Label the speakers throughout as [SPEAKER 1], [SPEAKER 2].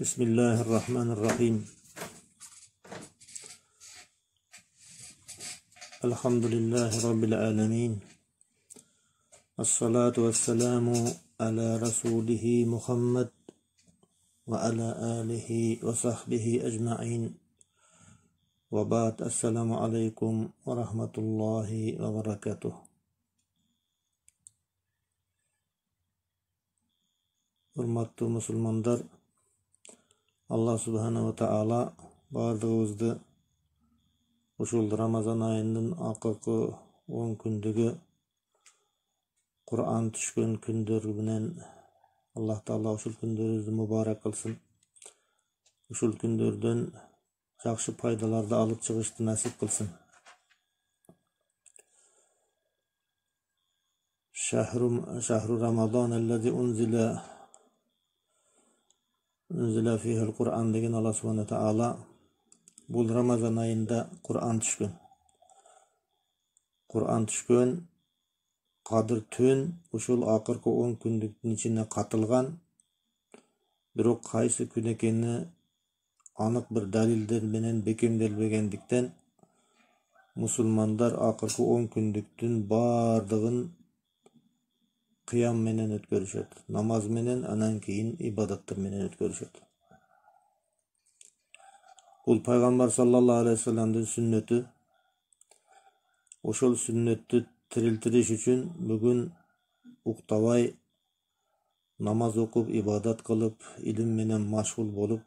[SPEAKER 1] Bismillahirrahmanirrahim. Elhamdülillahi Rabbil alemin. As-salatu vesselamu ala rasulihi Muhammed ve ala alihi ve sahbihi ecma'in. Ve ba'd. Esselamu aleykum ve rahmetullahi ve berekatuh. Hurmatlı musulmanlar, Allah subhanahu wa ta'ala bardığımızda uşul Ramazan ayının akıkı 10 kündügü Kur'an düşkün kündörü bilen Allah Ta'ala uşul kündörübüzdü mübarek kılsın. Uşul kündörden jakşı paydalarda alıp çıkıştı nasip kılsın. Şahru Ramazan ellezî unzila fihil Kur'an degen Allah subhanahu wa ta'ala bul Ramazan ayında Kur'an düşkün. Kur'an düşkün Kadir tün uşul akırkı 10 kündüktün içine katılgan, bирок kaysı gün ekeni anık bir dalilder menen bekemdelbegендиктен musulmanlar akırkı 10 kündüktün bardığın kıyam menen ötkөрүшөt, namaz menen, anan keyin ibadattır menen ötkörүшөt. Bul Peygamber sallallahu aleyhi ve sellem'din sünneti. Oşol sünnetти tiriltiriş üçün bugün uktavay namaz okup, ibadat kılıp, ilim menen maşgul bolup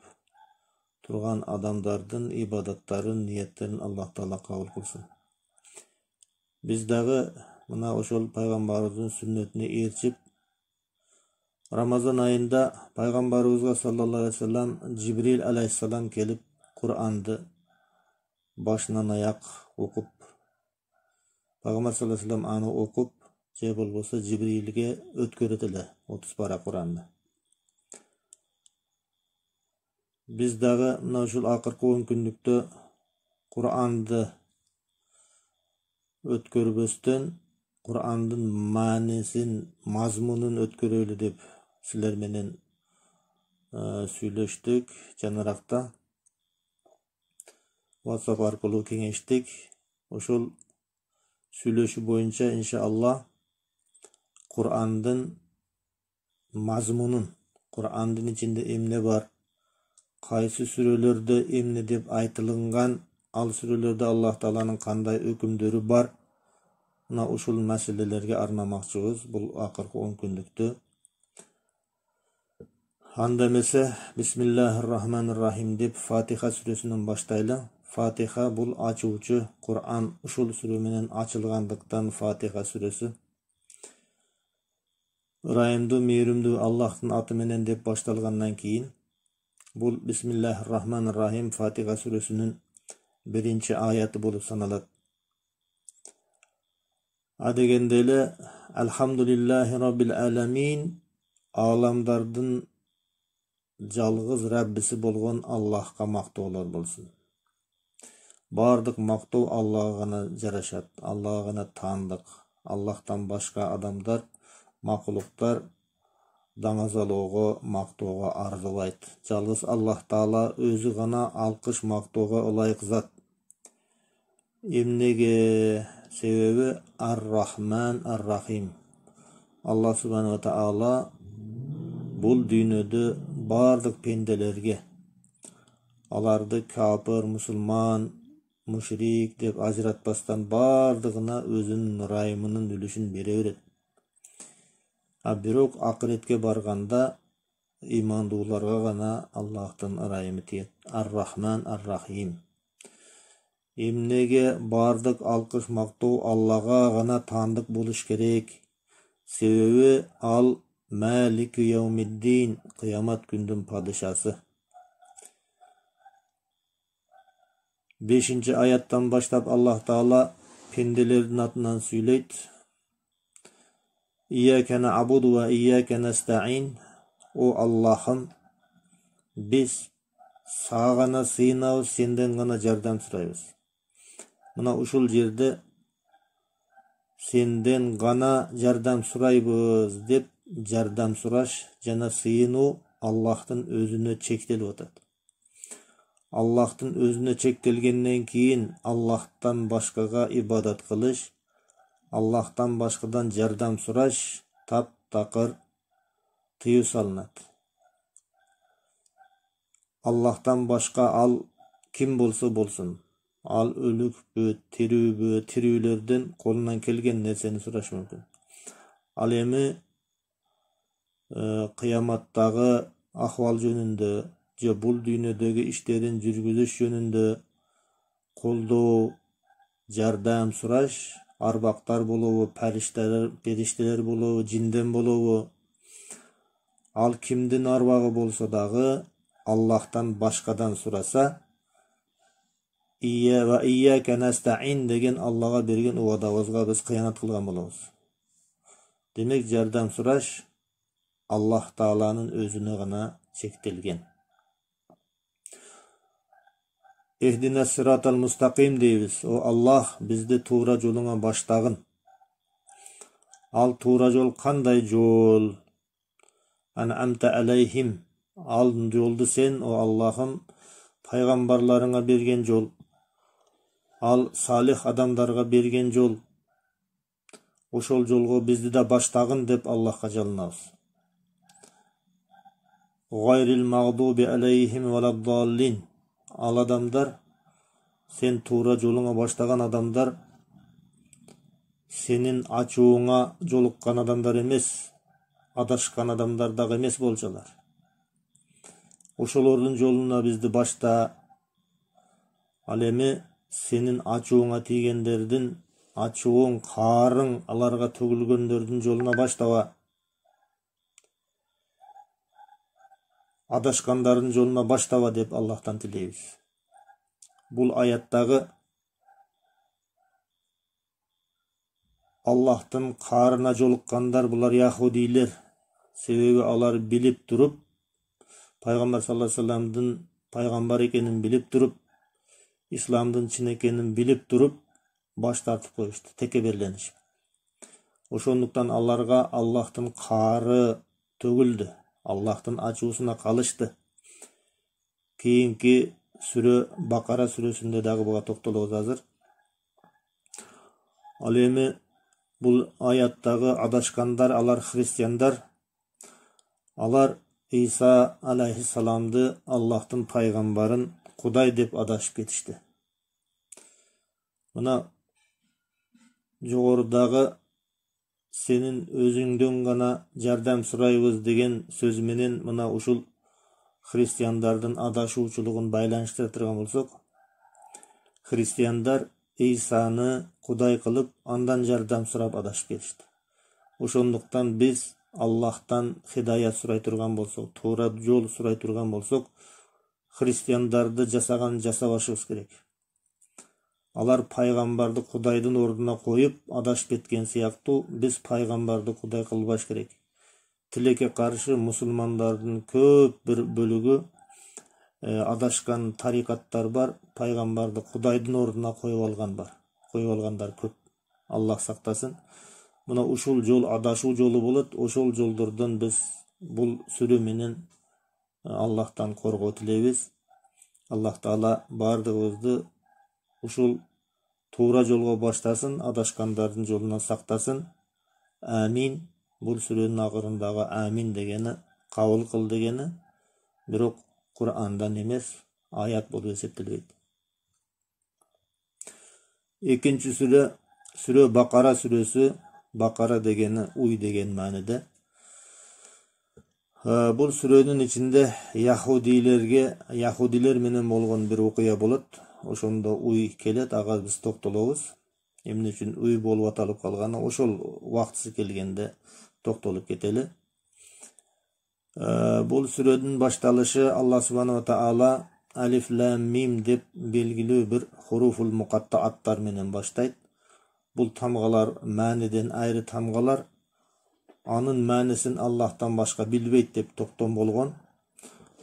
[SPEAKER 1] turgan adamdardın ibadattарын, niyetlerin Allah Taala kabul kılsın. Biz dagı mına oşol Peygamberimizin sünnetini erçip, Ramazan ayında Peygamberimizga sallallahu aleyhi ve sellem Cibril aleyhisselam kelip Kur'an'dı başынан ayak okup, Peygamber sallallahu aleyhi ve sellem anı okup, je bolbosa Cibril'ge ötköretiler 30 para Kur'an'dı. Biz dagı mına uşul akırkı 10 kündükte Kur'an'dı ötkörбөстөн Kur'an'dın manisin, mazmunun ötkörölü dep sizler menen süйлөштүk. Janarakta WhatsApp arkылуу kеңештик. Ошол süйлөшүү боюнча иншаллах Kur'an'dın mazmunun, Kur'an'dın içinde emne var, kayсы sürelerde emne dep aytылган, al sürelerde Allah Taala'nın kanday ökümdörü бар. Mına uşul meselelerge arnamakçыбыз bul akırkı 10 kündüktü. Anda emese Bismillahirrahmanirrahim dep Fatiha süresinin baştaylı. Fatiha bul açıuçu Kur'an uşul süre menen açılgandыктан Fatiha süresi. Ырайымдуу, мээримдүү Аллахтын аты менен деп башталгандан кийин бул Bismillahirrahmanirrahim Fatiha süresinin 1-ci ayatı bolup sanalат. Adegende ele Elhamdülillahi Rabbil alemin, alamdardın жалгыз Rabbisi bolgon Allah'a maktoolar bolsun. Bardyk maktoo Allah'a gana jaraşat, Allah'a gana taandyk. Allah'tan başka adamlar, makuluklar dаңазалоого, мактоого арзубайт. Жалгыз Аллах Таала өзү гана алкыш мактоого ылайык зат. Эмнеге? Себеби Ар-Рахман Ар-Рахим. Allah subhanahu wa ta'ala bul dүйнөдө бардык пенделерге, аларды капыр, мусулман, мушрик деп ажыратпастан бардыгына өзүнүн ырайымынын үлүшүн бере берет. Бирок акыретке барганда имандууларга гана Аллахтын ырайымы тиет. Ар-Рахман Ар-Рахим. Эмнеге бардык алкыш мактоо Аллага гана таандык болуш керек? Себеби ал Малик Яумиддин, кыямат күндүн падышасы. 5-ci ayаттан баштап Аллах Таала пенделердин атынан сүйлөйт. İyyâke na'budu ve iyyâke nesta'in. O Allah'ım, biz sağa gana sığınabız, senden gana jardam surayбыз. Mına uşul jerde senden gana jardam surayбыз деп жардам сураш жана сыйынуу Аллахтын өзүнө чектелип атат. Аллахтын өзүнө чектелгенден кийин Аллахтан башкага ибадат кылыш, Аллахтан башкадан жардам сураш таптакыр тыюу салынат. Аллахтан башка ал ким болсо болсун, ал өлүкпү, тирүүбү, тирүүлөрдөн колунан келген нерсени сураш мүмкүн. Ал эми кыяматтагы ахвал жөнүндө же бул дүйнөдөгү иштерин жүргүзүш жөнүндө колдоо, жардам сураш, арбактар болобу, периштелер болобу, жинден болобу, ал кимдин арбагы болсо дагы Аллахтан башкадан сураса, ва ийяка настаин деген Аллага берген убадабызга биз кыянат кылган болобуз. Демек, жардам сураш Аллах Тааланын өзүнө гана чектелген. Эхдина сиратал мустаким дейбиз. О Аллах, бизди туура жолуңа баштагын. Ал туура жол кандай жол? Ан'амта алейхим. Ал жолду сен, о Аллахым, пайгамбарларыңа берген жол. Ал салих адамдарга берген жол. Ошол жолго бизди да баштагын деп Аллахка жалынабыз. Гайрил магдуби алейхим валаддаллин. Ал адамдар, сен туура жолуңа баштаган адамдар, сенин ачууңа жолуккан адамдар эмес, адашкан адамдар дагы эмес болчулар. Ошолордун жолуна бизди башта. Ал эми сенин ачууңа тийгендердин, ачууң, каарың аларга төгүлгөндөрдүн жолуна баштаба. Адашкандардын жолуна баштаба деп Аллахтан тилейбиз. Бул аяттагы Аллахтын каарына жолуккандар булар яхудилер. Себеби алар билип туруп, пайгамбар саллаллаху алейхи вассаламдын пайгамбар экенин билип туруп, исламдын чын экенин билип туруп, баш тартып коюшту, текеберленишип. Ошондуктан аларга Аллахтын каары төгүлдү. Аллахтын ачуусуна калышты. Кийинки сүрө Бакара сүрөсүндө дагы буга токтолобуз азыр. Ал эми бул аяттагы адашкандар, алар христиандар, алар Иса алейхиссаламды, Аллахтын пайгамбарын Кудай деп адашып кетишти. Мына жогорудагы сенин өзүңдөн гана жардам сурайбыз деген сөз менен мына ушул христиандардын адашуучулугун байланыштыра турган болсок, христиандар Исаны Кудай кылып, андан жардам сурап адашып кетишти. Ошондуктан биз Аллахтан хидаят сурай турган болсок, туура жол сурай турган болсок, христиандарды жасаган жасабашыбыз керек. Алар пайгамбарды Кудайдын ордуна коюп адашып кеткен сыяктуу, биз пайгамбарды Кудай кылбаш керек. Тилекке каршы мусулмандардын көп бир бөлүгү адашкан тарикаттар бар, пайгамбарды Кудайдын ордуна коюп алгандар көп. Аллах сактасын. Мына ушул жол адашуу жолу болот. Ошол жолдордон биз бул сүрө менен Аллахтан коргоо тилейбиз. Аллах Таала бардыгыбызды ушул туура жолго баштасын, адашкандардын жолунан сактасын. Амин. Бул сүрөнүн акырындагы амин дегени кабыл кыл дегени, бирок Курандан эмес, аят болуп эсептелбейт. Экинчи сүрө Бакара сүрөсү. Бакара дегени уй деген мааниде. Бул сүрөнүн ичинде яхудилер менен болгон бир окуя болот. Ошондо уй келет, ага биз токтолобуз. Эмне үчүн уй болуп аталып калганы, ошол убактысы келгенде токтолуп кетели. Бул сүрөнүн башталышы Аллах субханаху таала алиф лам мим деп белгилүү бир хуруфул муқаттааттар менен баштайт. Бул тамгалар мааниден айры тамгалар. Анын маанисин Аллахтан башка билбейт деп токтом болгон.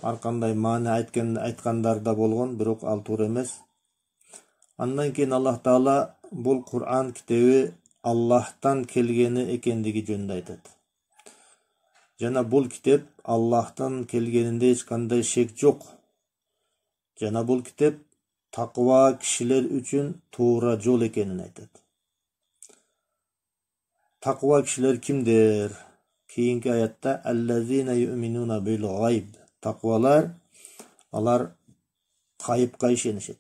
[SPEAKER 1] Ар кандай маани айткандар да болгон, бирок ал туура эмес. Андан кийин Аллах Таала бул Кур'ан китеби Аллахтан келгени экендиги жөнүндө айтат. Жана бул китеп Аллахтан келгенинде эч кандай шек жок. Жана бул китеп таква кишилер үчүн туура жол экенин айтат. Таква кишилер кимдер? Кийинки аятта аллазина ю'минуна бил гайб. Таквалар алар кайыпка ишенишет.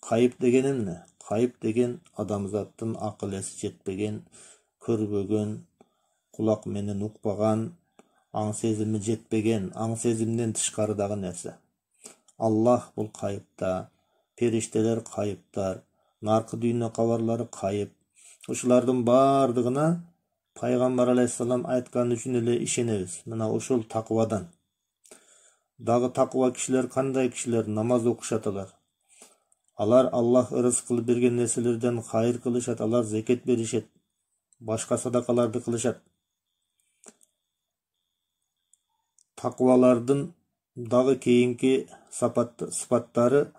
[SPEAKER 1] Кайып деген эмне? Кайып деген адамзаттын акыл эси жетпеген, көрбөгөн, кулак менен укпаган, аң сезими жетпеген, аң сезимден тышкарыдагы нерсе. Аллах бул кайыпта, периштелер кайыптар, наркы дүйнө кабарлары кайып. Ушулардын бардыгына Пайгамбар алейхиссалам айткан үчүн эле ишенебиз. Мына ушул таквадан. Дагы таква кишилер кандай кишилер? Намаз окушат. Алар Аллах ырыс кылып берген нерселерден хайыр кылышат, алар зекет беришет, башка садакаларды кылышат. Таквалардын дагы кийинки сыпаттары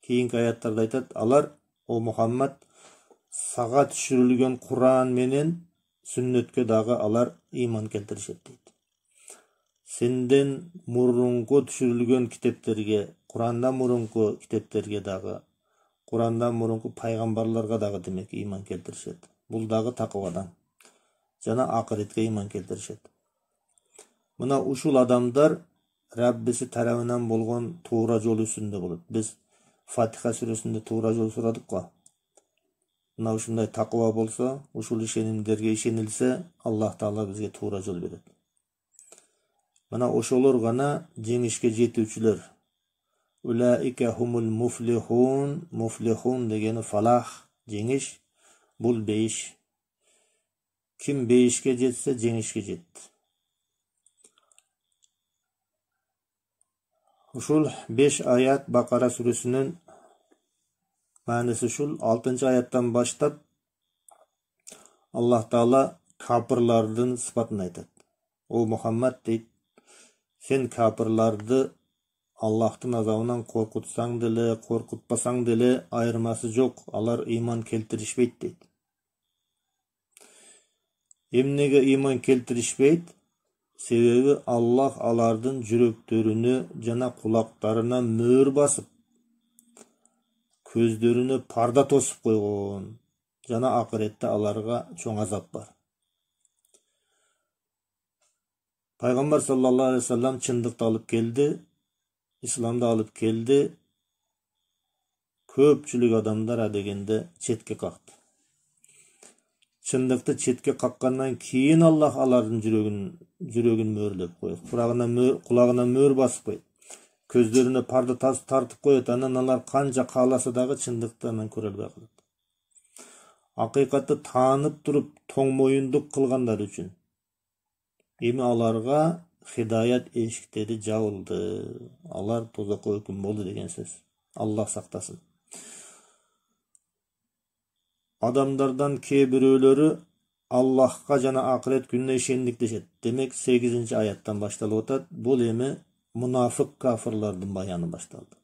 [SPEAKER 1] кийинки аяттарда айтат. Алар, о Мухаммад, сага түшүрүлгөн Куран менен сүннөткө дагы алар ыйман келтиришет дейт. Сенден мурунку түшүрүлгөн китептерге, Курандан мурунку китептерге дагы, Курандан мурунку пайгамбарларга дагы демек ыйман келтиришет. Бул дагы таквадан. Жана акыретке ыйман келтиришет. Мына ушул адамдар Раббиси тарабынан болгон туура жол үстүндө болот. Биз Фатиха сүрөсүндө туура жол сурадык го. Мына ушундай таква болсо, ушул ишенимдерге ишенилсе, Аллах Таала бизге туура жол берет. Мына ошолор гана жеңишке жетүүчүлөр. Улаика хумул муфлихун. Муфлихун дегени фалах, жеңиш. Бул бейиш. Ким бейишке жетсе, жеңишке жетти. Ушул 5 аят Бакара сүрөсүнүн мааниси ушул. 6 аяттан баштап Аллах Таала капырлардын сыпатын айтат. О Мухаммад дейт, сен капырларды Аллахтын азабынан коркутсаң деле, коркутпасаң деле айырмасы жок, алар ыйман келтиришпейт дейт. Эмнеге ыйман келтиришпейт? Себеби Аллах алардын жүрөктөрүнө жана кулактарына мөөр басып, көздөрүнө парда тосуп койгон, жана акыретте аларга чоң азап бар. Пайгамбар саллаллаху алейхи ва саллям чындыкты алып келди, исламды алып келди. Көпчүлүк адамдар адегенде четке какты. Чындыкты четке каккандан кийин Аллах алардын жүрөгүн мөөрлөп коет. Кулагына мөөр басып коет. Көздөрүнө парда тартып коет. Анан алар канча кааласа дагы чындыкты анан көрө албай калат. Акыйкатты таанып туруп тоң моюндук кылгандар үчүн эми аларга хидаят эшиктери жабылды. Алар тозокко өкүм болду деген сөз. Аллах сактасын. Адамдардан кээ бирөөлөрү Аллахка жана акырет күнүнө ишендик дешет. Демек 8 аяттан башталып атат. Бул эми мунафык кафырлардын баяны башталды.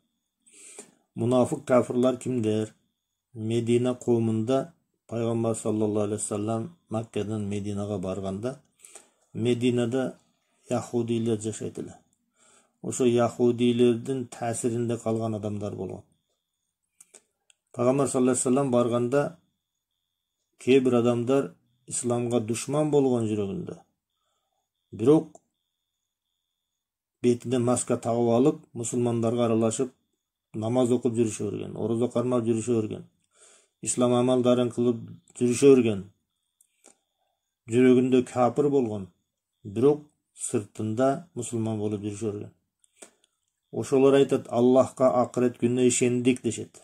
[SPEAKER 1] Мунафык кафырлар кимдер? Медина коомунда Пайгамбар саллаллаху алейхи ва саллям Маккадан Мединага барганда, Мединада яхудилер жашайт эле. Ошо яхудилердин таасиринде калган адамдар болгон. Пайгамбар саллаллаху алейхи ва саллям барганда кээ бир адамдар исламга душман болгон жүрөгүндө. Бирок бетине маска тагып алып, мусулмандарга аралашып, намаз окуп жүрүшө берген, орозо кармап жүрүшө берген, ислам амалдарын кылып жүрүшө берген. Жүрөгүндө капыр болгон, бирок сыртында мусулман болуп жүрүшө берген. Ошолор айтат, Аллахка акырет күнүнө ишендик дешет.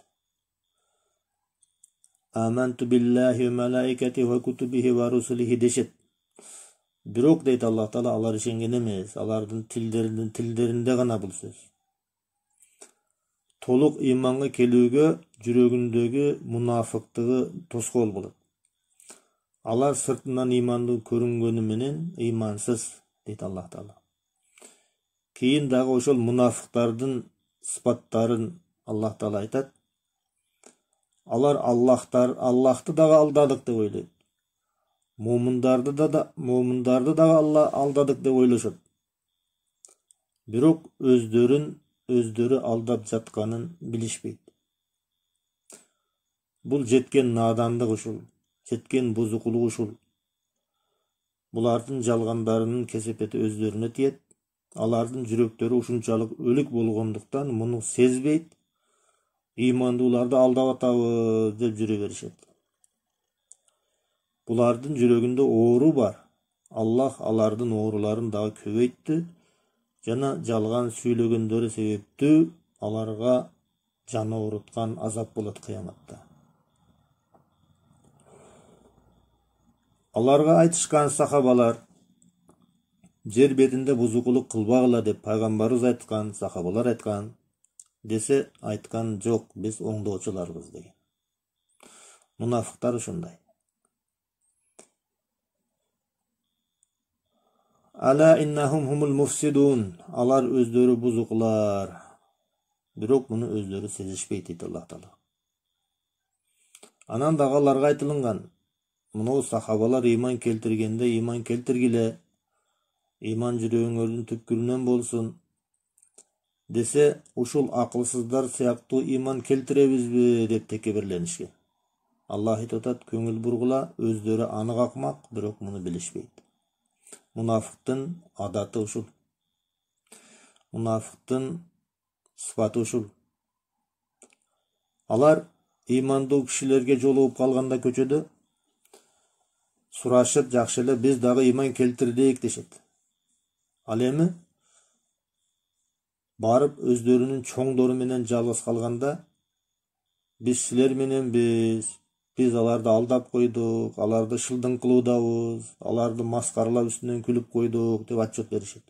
[SPEAKER 1] Аманту биллахи ва малаикатихи ва кутубихи ва русулихи дешет. Бирок дейт Аллах Таала, алар ишенген эмес, алардын тилдеринде гана бул сөз. Толук ыйманга келүүгө жүрөгүндөгү мунафыктыгы тоскоол болот. Алар сыртынан ыймандуу көрүнгөнү менен ыймансыз дейт Аллах Таала. Кийин дагы ошол мунафыктардын сыпаттарын Аллах Таала айтат. Алар Аллахты дагы алдадык деп ойлойт. Момундарды дагы алдадык деп ойлошот. бирок өздөрү алдап жатканын билишпейт. Бул жеткен надандык ушул, жеткен бузукулук ушул. Булардын жалгандарынын кесепети өздөрүнө тиет. Алардын жүрөктөрү ушунчалык өлүк болгондуктан муну сезбейт. Ыймандууларды алдап атабыз деп жүрө беришет. Булардын жүрөгүндө оору бар. Аллах алардын ооруларын дагы көбөйттү жана жалган сүйлөгөндөрү себептүү аларга жаны ооруткан азап болот кыяматта. Аларга айтышкан сахабалар, жер бетинде бузукулук кылбагыла деп пайгамбарыбыз айткан, сахабалар айткан. Десе айткан жок, биз оңдоочуларбыз деген. Мунафыктар ушундай. Ала иннахум хумул муфсидун. Алар өздөрү бузукулар. Бирок муну өздөрү сезишпейт дейт Аллах Таала. Анан дагы аларга айтылган, мына сахабалар ыйман келтиргенде ыйман келтиргиле. Ыйман жүрөгүңөрдүн түпкүрүнөн болсун. Десе, ушул акылсыздар сыяктуу ыйман келтиребизби деп текебирленишкен. Аллах айтып атат, көңүл бургула, өздөрү анык акмак, бирок муну билишпейт. Мунафыктын адаты ушул. Мунафыктын сыпаты ушул. Алар ыймандуу кишилерге жолугуп калганда көчөдө сурашып, жакшы эле биз дагы ыйман келтирдик дешет. Ал эми барып өздөрүнүн чоңдору менен жалгыз калганда биз силер мененбиз, биз аларды алдап койдук, аларды шылдың кылуудабыз, аларды маскаралап үстүнөн күлүп койдук деп отчет беришет.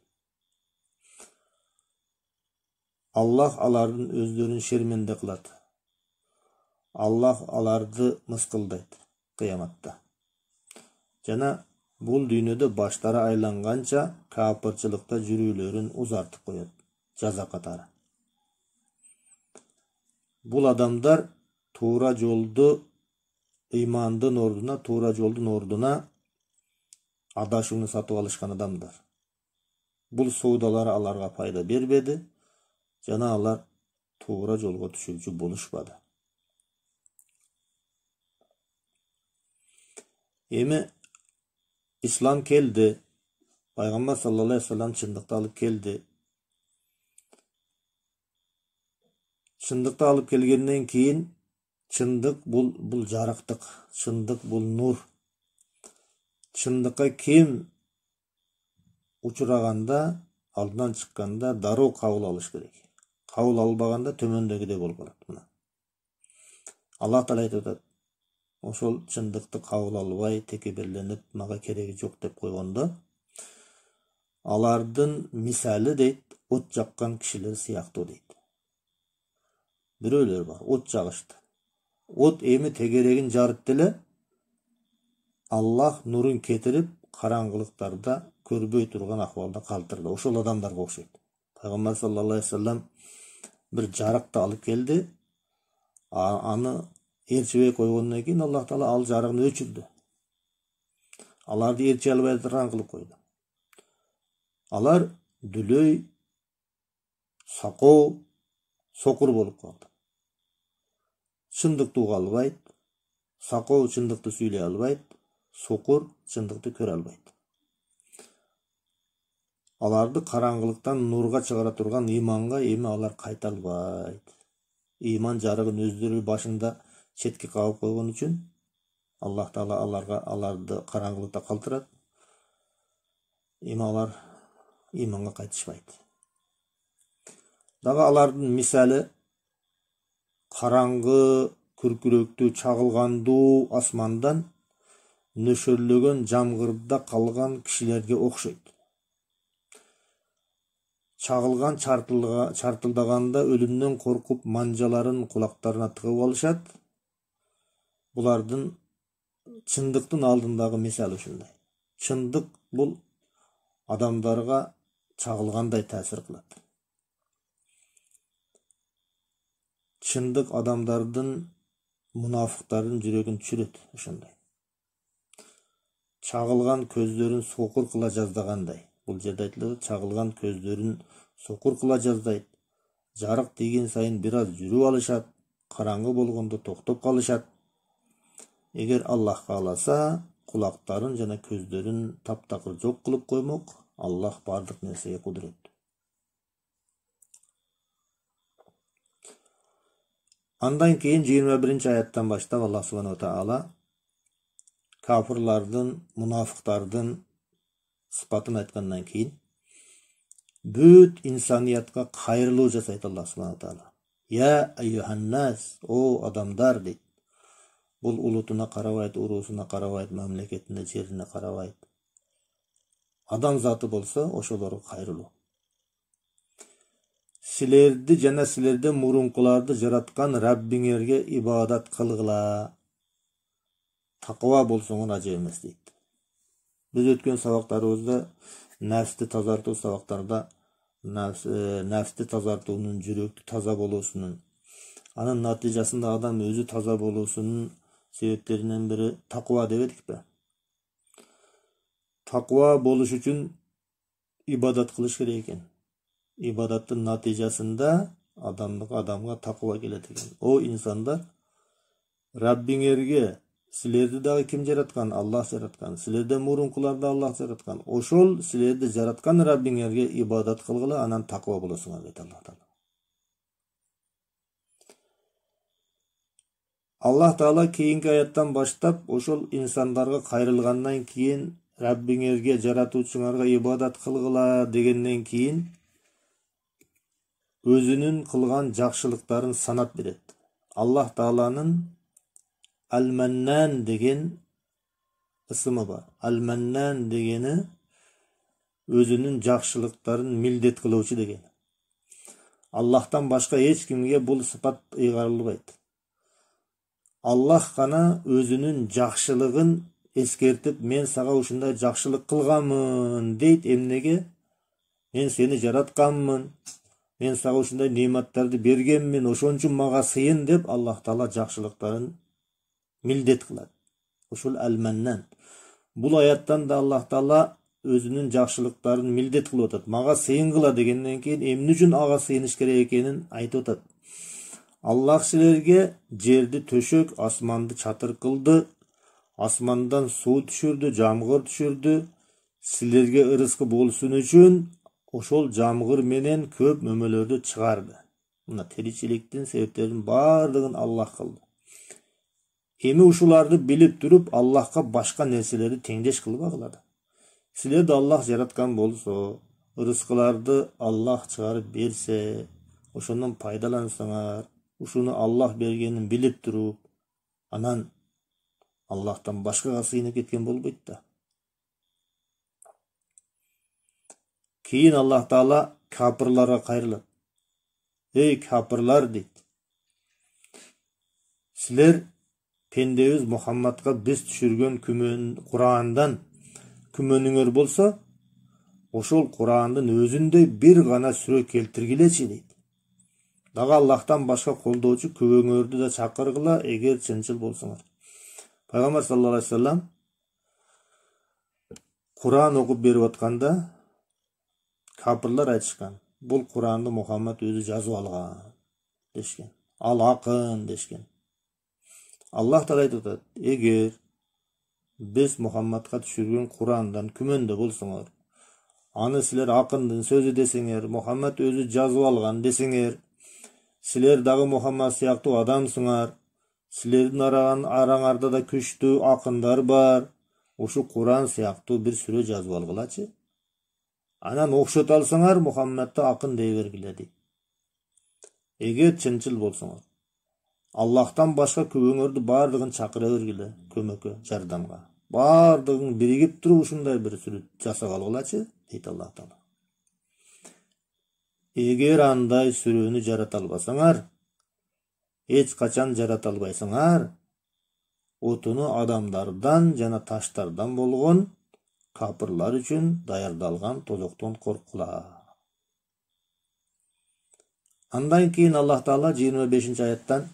[SPEAKER 1] Аллах алардын өздөрүн шерменде кылат. Аллах аларды мыскылдайт кыяматта. Жана бул дүйнөдө баштары айланганча капырчылыкта жүрүүлөрүн узартып коет жаза катары. Бул адамдар туура жолду, ыймандын ордуна, туура жолдун ордуна адашууну сатып алышкан адамдар. Бул соодалар аларга пайда бербеди, жана алар туура жолго түшүүчү болушпады. Эми ислам келди, пайгамбар саллаллаху алейхи вассалам чындыкты алып келди. Чындыкты алып келгенден кийин чындык бул жарыктык, чындык бул нур. Чындыкка ким учураганда, алдынан чыкканда дароо кабыл алыш керек. Кабыл албаганда төмөндөгүдөй болуп калат. Мына Аллах Таала айтып атат, ошол чындыкты кабыл албай, текебирленип, мага кереги жок деп койгондо, алардын мисалы дейт, от жаккан кишилер сыяктуу дейт. Бирөөлөр бар, от жагышты. От эми тегерегин жарып деле, Аллах нурун кетирип, караңгылыктарда көрбөй турган акыбалда калтырды. Ошол адамдарга окшойт. Пайгамбар саллаллаху алейхи вассалам бир жарыкты алып келди. Аны ээрчибей койгондон кийин Аллах Таала ал жарыгын өчүрдү. Аларды ээрчи албай турган кылып койду. Алар дүлөй, сакоо, сокур болуп калды. Чындыкты уга албайт, сакоо чындыкты сүйлөй албайт, сокур чындыкты көрө албайт. Аларды караңгылыктан нурга чыгара турган ыйманга эми алар кайта албайт. Ыйман жарыгын өздөрү башында четке кагып койгон үчүн Аллах Таала аларды караңгылыкта калтырат. Эми алар ыйманга кайтышпайт. Дагы алардын мисалы караңгы, күркүрөктүү, чагылгандуу асмандан нөшөрлөгөн жамгырда калган кишилерге окшойт. Чагылган чартылдаганда өлүмдөн коркуп манжаларын кулактарына тыгып алышат. Булардын чындыктын алдындагы мисалы ушундай. Чындык бул адамдарга чагылгандай таасир кылат. Чындык адамдардын, мунафыктардын жүрөгүн түшүрөт ошондой. Чагылган көздөрүн сокур кыла жаздагандай. Бул жерде айтылат, чагылган көздөрүн сокур кыла жаздайт. Жарык тийген сайын бир аз жүрүп алышат, караңгы болгондо токтоп калышат. Эгер Аллах кааласа, кулактарын жана көздөрүн таптакыр жок кылып коймок. Аллах бардык нерсеге кудуреттүү. Андан кийин 21-аяттан баштап Аллах субханаху таала кафирлардын, мунафыктардын сыпатын айткандан кийин бүт инсаниятка кайрылуу жасайт Аллах субханаху таала. Я айюханнас, о адамдар дейт. Бул улутуна карабайт, уруусуна карабайт, мамлекетине, жерине карабайт. Адам заты болсо ошолорго кайрылуу. Силерди жана силерден мурункуларды жараткан Раббиңерге ибадат кылгыла. Таква болсоңор ажып эмес дейт. Биз өткөн сабактарыбызда нафсти тазартуу сабактарда нафсти тазартуунун, жүрөктү таза болуусунун, анын натыйжасында адам өзү таза болуусунун себептеринен бири таква дебедикпи? Таква болуш үчүн ибадат кылыш керек экен. Ибадаттын натыйжасында адамга таква келет экен. О инсандар, Раббиңерге силерди дагы ким жараткан? Аллах жараткан. Силерден мурункуларды Аллах жараткан. Ошол силерди жараткан Раббиңерге ибадат кылгыла, анан таква болосуңар дейт Аллах таала. Аллах таала кийинки аяттан баштап ошол инсандарга кайрылгандан кийин Раббиңерге, жаратуучуңарга ибадат кылгыла дегенден кийин өзүнүн кылган жакшылыктарын санап берет. Аллах тааланын Ал-Маннан деген ысымы бар. Ал-Маннан дегени өзүнүн жакшылыктарын милдет кылуучу деген. Аллахтан башка эч кимге бул сыпат ыйгарылбайт. Аллах гана өзүнүн жакшылыгын эскертип, мен сага ушундай жакшылык кылганмын дейт. Эмнеге? Мен сени жаратканмын. Мен сага ушундай нематтарды бергенмин, ошон үчүн мага сыйын деп Аллах таала жакшылыктарын милдет кылат. Ушул Ал-Маннан. Бул аяттан да Аллах таала өзүнүн жакшылыктарын милдет кылып атат. Мага сыйынгыла дегенден кийин эмне үчүн ага сыйыныш керек экенин айтып атат. Аллах силерге жерди төшөк, асманды чатыр кылды, асмандан суу түшүрдү, жамгыр түшүрдү. Силерге ырыскы болсун үчүн ошол жамгыр менен көп мөмөлөрдү чыгарды. Мына тиричиликтин себептерин бардыгын Аллах кылды. Эми ушуларды билип туруп, Аллахка башка нерселерди теңдеш кылбагыла. Силерди Аллах жараткан болсо, ырыскыларды Аллах чыгарып берсе, ошондон пайдалансаңар, ушуну Аллах бергенин билип туруп, анан Аллахтан башкага сыйынып кеткен болбойт да. Кийин Аллах таала капырларга кайрылат. Эй капырлар дейт. Силер пендебиз Мухаммадка биз түшүргөн Курандан күмөнүңөр болсо, ошол Курандын өзүндөй бир гана сүрө келтиргилечи дейт. Дагы Аллахтан башка колдоочу күбөңөрдү да чакыргыла, эгер чынчыл болсоңор. Пайгамбар саллаллаху алейхи вассалам Куран окуп берип атканда капырлар айтышкан. Бул Куранды Мухаммад өзү жазып алган дешкен. Ал акын дешкен. Аллах таала айтып атат: эгер биз Мухаммадка түшүргөн Курандан күмөндө болсоңор, аны силер акындын сөзү десеңер, Мухаммад өзү жазып алган десеңер, силер дагы Мухаммад сыяктуу адамсыңар, силердин араңарда да күчтүү акындар бар, ушу Куран сыяктуу бир сүрө жазып алгылачы. Анан окшото алсаңар, Мухаммадты акын дей бергиле дейт. Эгер чынчыл болсоңор, Аллахтан башка күбөңөрдү бардыгын чакыра бергиле, көмөккө, жардамга. Бардыгын биригип туруп ушундай бир сүрөт жасап алгылачы, дейт Аллах таала. Эгер андай сүрөнү жарата албасаңар, эч качан жарата албайсыңар, отуну адамдардан жана таштардан болгон капырлар үчүн даярдалган тозоктон корккула. Андан кийин Аллах таала 25-аяттан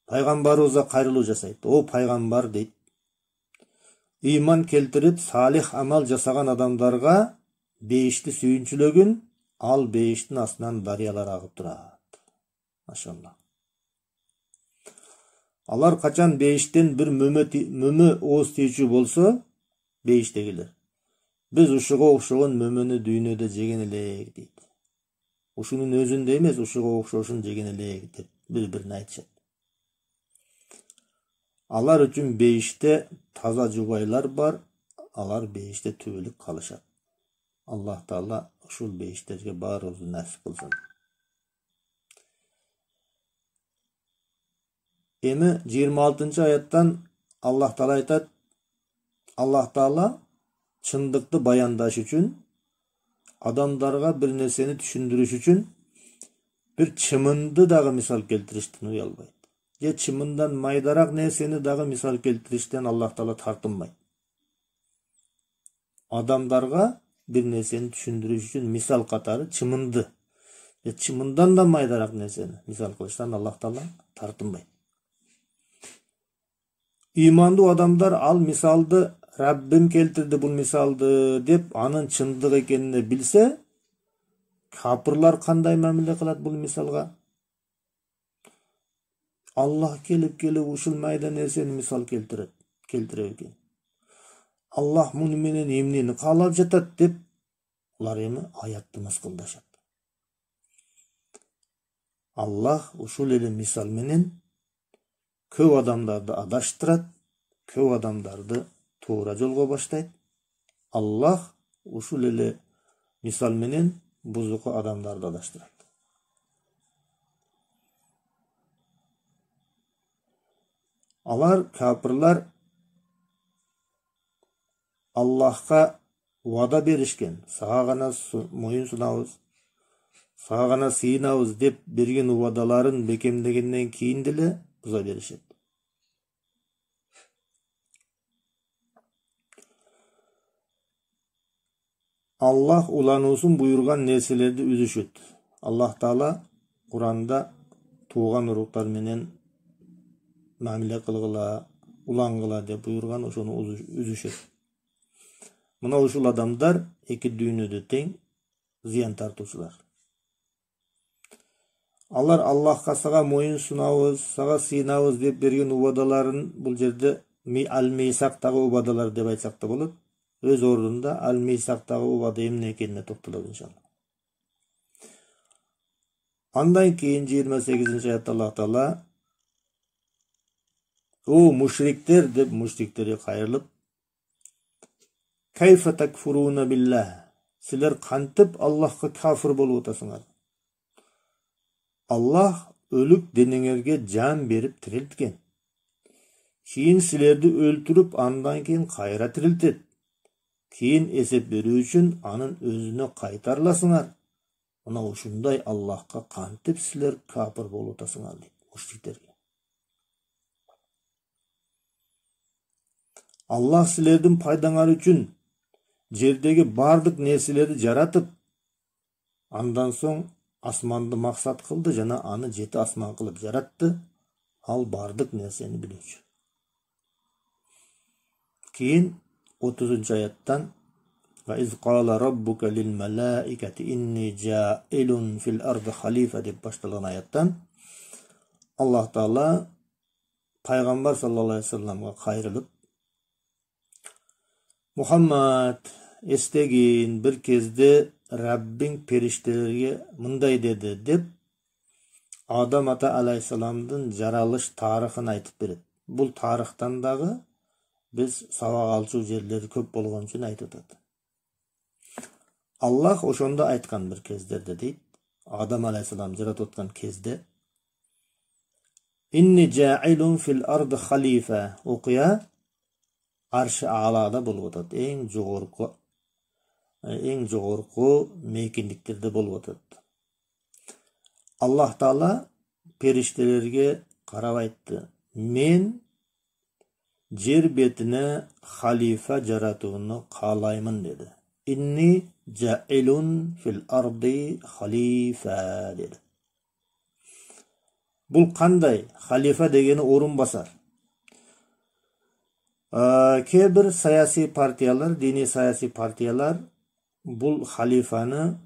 [SPEAKER 1] пайгамбарыбызга кайрылуу жасайт. О пайгамбар дейт. Ыйман келтирип, салих амал жасаган адамдарга бейишти сүйүнчүлөгүн, ал бейиштин астынан дарыялар агып турат. Машалла. Алар качан бейиштен бир мөмө ооз тийчү болсо, бейиштегилер, биз ушуга окшогон мөмөнү дүйнөдө жеген элек дейт. Ушунун өзүндө эмес, ушуга окшошун жеген элек деп бири-бирине айтышат. Алар үчүн бейиште таза жубайлар бар, алар бейиште түбөлүк калышат. Аллах Таала ушул бейиштерге баарыбызды насип кылсын. Эми 26-аяттан Аллах Таала айтат, Аллах Таала чындыкты баяндаш үчүн, адамдарга бир нерсени түшүндүрүш үчүн бир чымынды дагы мисал келтириштен уялбайт. Же чымындан майдарак нерсени дагы мисал келтириштен Аллах Таала тартынбайт. Адамдарга бир нерсени түшүндүрүш үчүн мисал катары чымынды, же чымындан да майдарак нерсени мисал кылыштан Аллах Таала тартынбайт. Ыймандуу адамдар ал мисалды Раббим келтирди бул мисалды деп анын чындык экенин билсе, капырлар кандай мамиле кылат бул мисалга? Аллах келип ушул майда нерсени мисал келтире экен. Аллах муну менен эмнени каалап жатат деп улар эми аятты мыскылдашат. Аллах ушул эле мисал менен көп адамдарды адаштырат, көп адамдарды туура жолго баштайт. Аллах ушул эле мисал менен бузуку адамдарды адаштырат. Алар капырлар Аллахка вада беришкен, сага гана моюн сунабыз, сага гана сыйынабыз деп берген убадаларын бекемдегенден кийин деле буза беришет. Аллах улануусун буйрган нерселерди үзүшөт. Аллах Таала Куранда тууган уруктар менен мамиле кылгыла, улангыла деп буйрган, ошону үзүшөт. Мына ушул адамдар эки дүйнөдө тең зыян тартуучулар. Алар Аллахка сага моюн сунабыз, сага сыйынабыз деп берген убадаларын бул жерде ал-мейсактагы убадалар деп айтсак да болот. Өз ордунда ал-мейсактагы убада эмне экенине токтолот иншалла. Андан кийин 28-аятта Аллах Таала о мушриктер деп мушриктерге кайрылып, кайфа такфуруна биллах, силер кантип Аллахка кафир болуп атасыңар? Аллах өлүк денеңерге жан берип тирилткен. Кийин силерди өлтүрүп, андан кийин кайра тирилтет. Кийин эсеп берүү үчүн анын өзүнө кайтарыласыңар. Мына ушундай Аллахка кантип силер кафир болуп атасыңар дейт мушриктерге. Аллах силердин пайдаңар үчүн жердеги бардык нерселерди жаратып, андан соң асманды максат кылды жана аны 7 асман кылып жаратты. Ал бардык нерсени билүүчү. Кийин 30-аяттан ва из кала раббука лил малаикати инни жаилун фил арди халифа деп башталган аяттан Аллах Таала пайгамбар саллаллаху алейхи вассаламга кайрылып, Мухаммад, эстегин, бир кезде Раббиң периштелерге мындай деди деп Адам ата алейхиссаламдын жаралыш тарыхын айтып берет. Бул тарыхтан дагы биз сабак алчу жерлери көп болгон үчүн айтып атат. Аллах ошондо айткан бир кездерде дейт, Адам алейхиссалам жаратып аткан кезде инни жаилун фил арди халифа, окуя аршы аалада болуп атат, эң жогорку мейкиндиктерде болуп атат. Аллах Таала периштелерге карап айтты, мен жер бетине халифа жаратууну каалаймын деди. Инни жаилун фил арди халифа деди. Бул кандай? Халифа дегени орун басар. Кээ бир саясий партиялар, диний саясий партиялар бул халифаны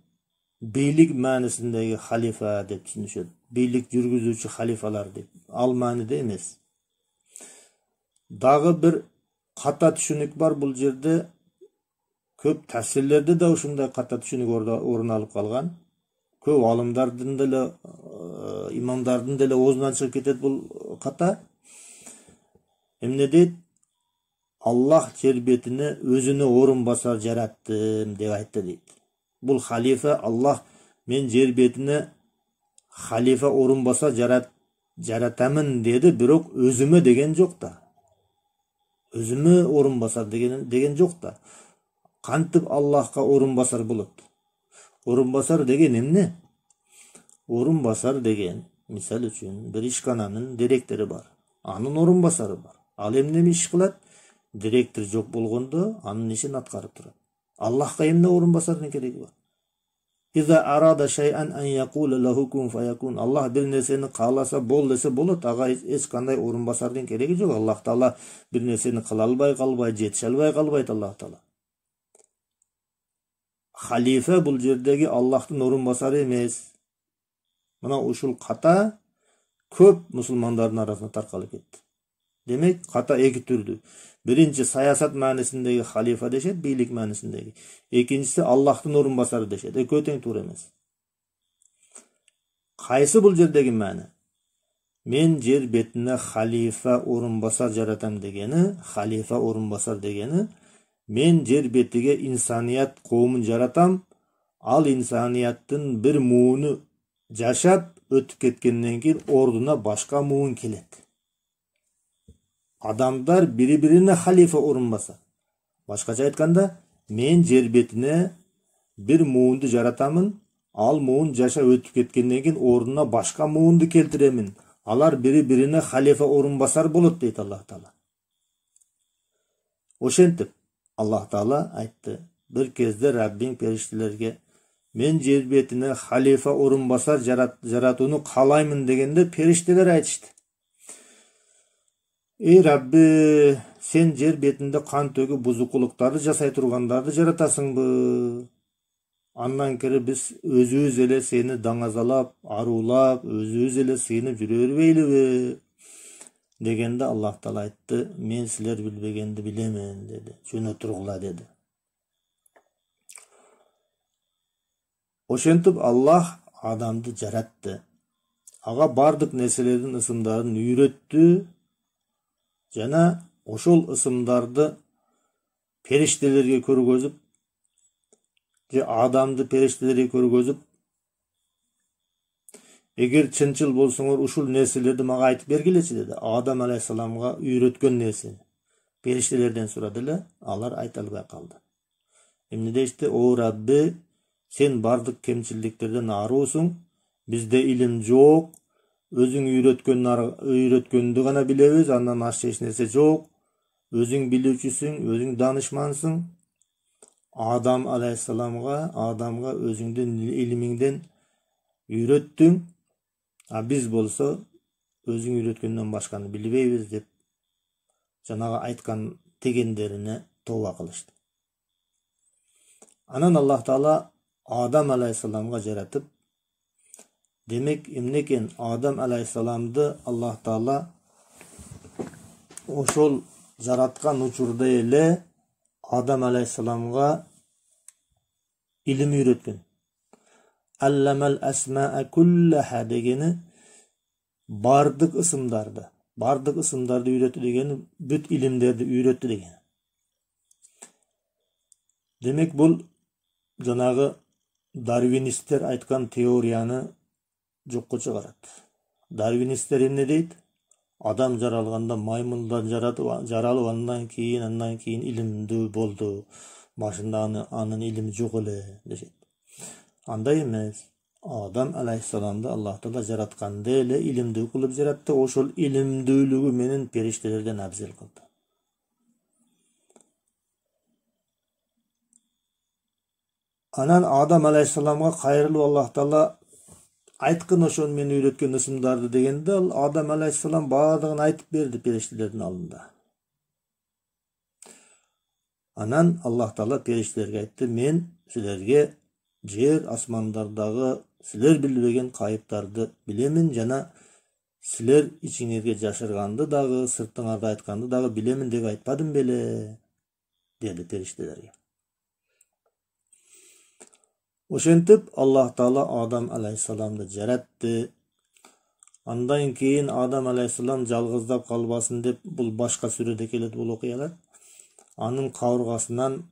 [SPEAKER 1] бийлик маанисиндеги халифа деп түшүнүшөт. Бийлик жүргүзүүчү халифалар деп. Ал мааниде эмес. Дагы бир ката түшүнүк бар бул жерде. Көп тафсирлерде да ушундай ката түшүнүк орун алып калган. Көп алымдардын деле, имамдардын деле оозунан чыгып кетет бул ката. Эмне дейт? Аллах жер бетине өзүнө орун басар жараттым деп айтты дейт. Бул халифа Аллах мен жер бетине халифа орун басар жаратамын деди, бирок өзүмө деген жок да. Өзүмө орун басар деген жок да. Кантип Аллахка орун басар болот? Орун басар деген эмне? Орун басар деген, мисал үчүн, бир ишкананын директору бар. Анын орун басары бар. Ал эмне иш кылат? Директор жок болгондо анын ишин аткарып турат. Аллахка эмне орун басардын кереги бар? Иза арада шай'ан ан якула лаху кун фаякун. Аллах бир нерсени кааласа бол десе болот. Ага эч кандай орун басардын кереги жок. Аллах Таала бир нерсени кыла албай калбайт, жетише албай калбайт Аллах Таала. Халифа бул жердеги Аллахтын орун басары эмес. Мына ушул ката көп мусулмандардын арасына таркалып кетти. Демек, ката эки түрдүү. Биринчи саясат маанисиндеги халифа дешет, бийлик маанисиндеги. Экинчиси Аллахтын орун басары дешет. Экөө тең туура эмес. Кайсы бул жердеги маани? Мен жер бетине халифа орун басар жаратам дегени, халифа орун басар дегени, мен жер бетиге инсаният коомун жаратам, ал инсанияттын бир мууну жашап өтүп кеткенден кийин ордуна башка муун келет. Адамдар бири-бирине халифа орун басат. Башкача айтканда, мен жер бетине бир муунду жаратамын, ал муун жашап өтүп кеткенден кийин ордуна башка муунду келтиремин. Алар бири-бирине халифа орун басар болот дейт Аллах Таала. Ошентип Аллах Таала айтты. Бир кезде Раббиң периштелерге мен жер бетине халифа орун басар жаратууну каалаймын дегенде периштелер айтышты. Эй Рабби, сен жер бетинде кан төгүп бузукулуктарды жасай тургандарды жаратасыңбы? Андан кери биз өзүбүз эле сени даңазалап, арулап, өзүбүз эле сыйынып жүрө бербейлиби? Дегенде Аллах Таала айтты, мен силер билбегенди билемен деди. Жөнө тургула деди. Ошентип Аллах адамды жаратты. Ага бардык нерселердин ысымдарын үйрөттү. Жана ошол ысымдарды периштелерге көргөзүп, же адамды периштелерге көргөзүп, эгер чынчыл болсоңор ушул нерселерди мага айтып бергилечи деди. Адам алейхисаламга үйрөткөн нерсени периштелерден сурады эле, алар айта албай калды. Эмне дешти? О Рабби, сен бардык кемчилдиктерден аруусуң, бизде илим жок, өзүң үйрөткөндү гана билебиз, андан ашча эч нерсе жок. Өзүң билүүчүсүң, өзүң данышмансың. Адамга өзүңдүн илимиңден үйрөттүң, а биз болсо өзүң үйрөткөндөн башканы билбейбиз деп жанагы айткан дегендерине тооба кылышты. Анан Аллах Таала Адам алейхисаламга жаратып, демек эмне экен? Адам алейхисаламды Аллах Таала ошол жараткан учурда эле Адам алейхисаламга илим үйрөткөн. Алламал асмаа куллаха дегени бардык ысымдарды үйрөттү дегени бүт илимдерди үйрөттү дегени. Демек бул жанагы дарвинисттер айткан теорияны жокко чыгарат. Дарвинисттер эмне дейт? Адам жаралганда маймундан жаралып, андан кийин илимдүү болду. Башында анын илими жок эле дешет. Андай эмес. Адам алейхисаламды Аллах Таала жаратканда эле илимдүү кылып жаратты. Ошол илимдүүлүгү менен периштелерден абзел кылды. Анан Адам алейхисаламга кайрылып Аллах Таала айткын ошону мен үйрөткөн ысымдарды дегенде, Адам алейхисалам баардыгын айтып берди периштелердин алдында. Анан Аллах Таала периштелерге айтты: "Мен силерге жер асмандардагы силер билбеген кайыптарды билемин жана силер ичиңерге жашырганды дагы, сыртыңарда айтканды дагы билемин деп айтпадым беле?" деди периштелерге. Ошентип Аллах Таала Адам алейхиссаламды жаратты. Андан кийин Адам алейхиссалам жалгыздап калбасын деп, бул башка сүрөдө келет бул окуялар. Анын кабыргасынан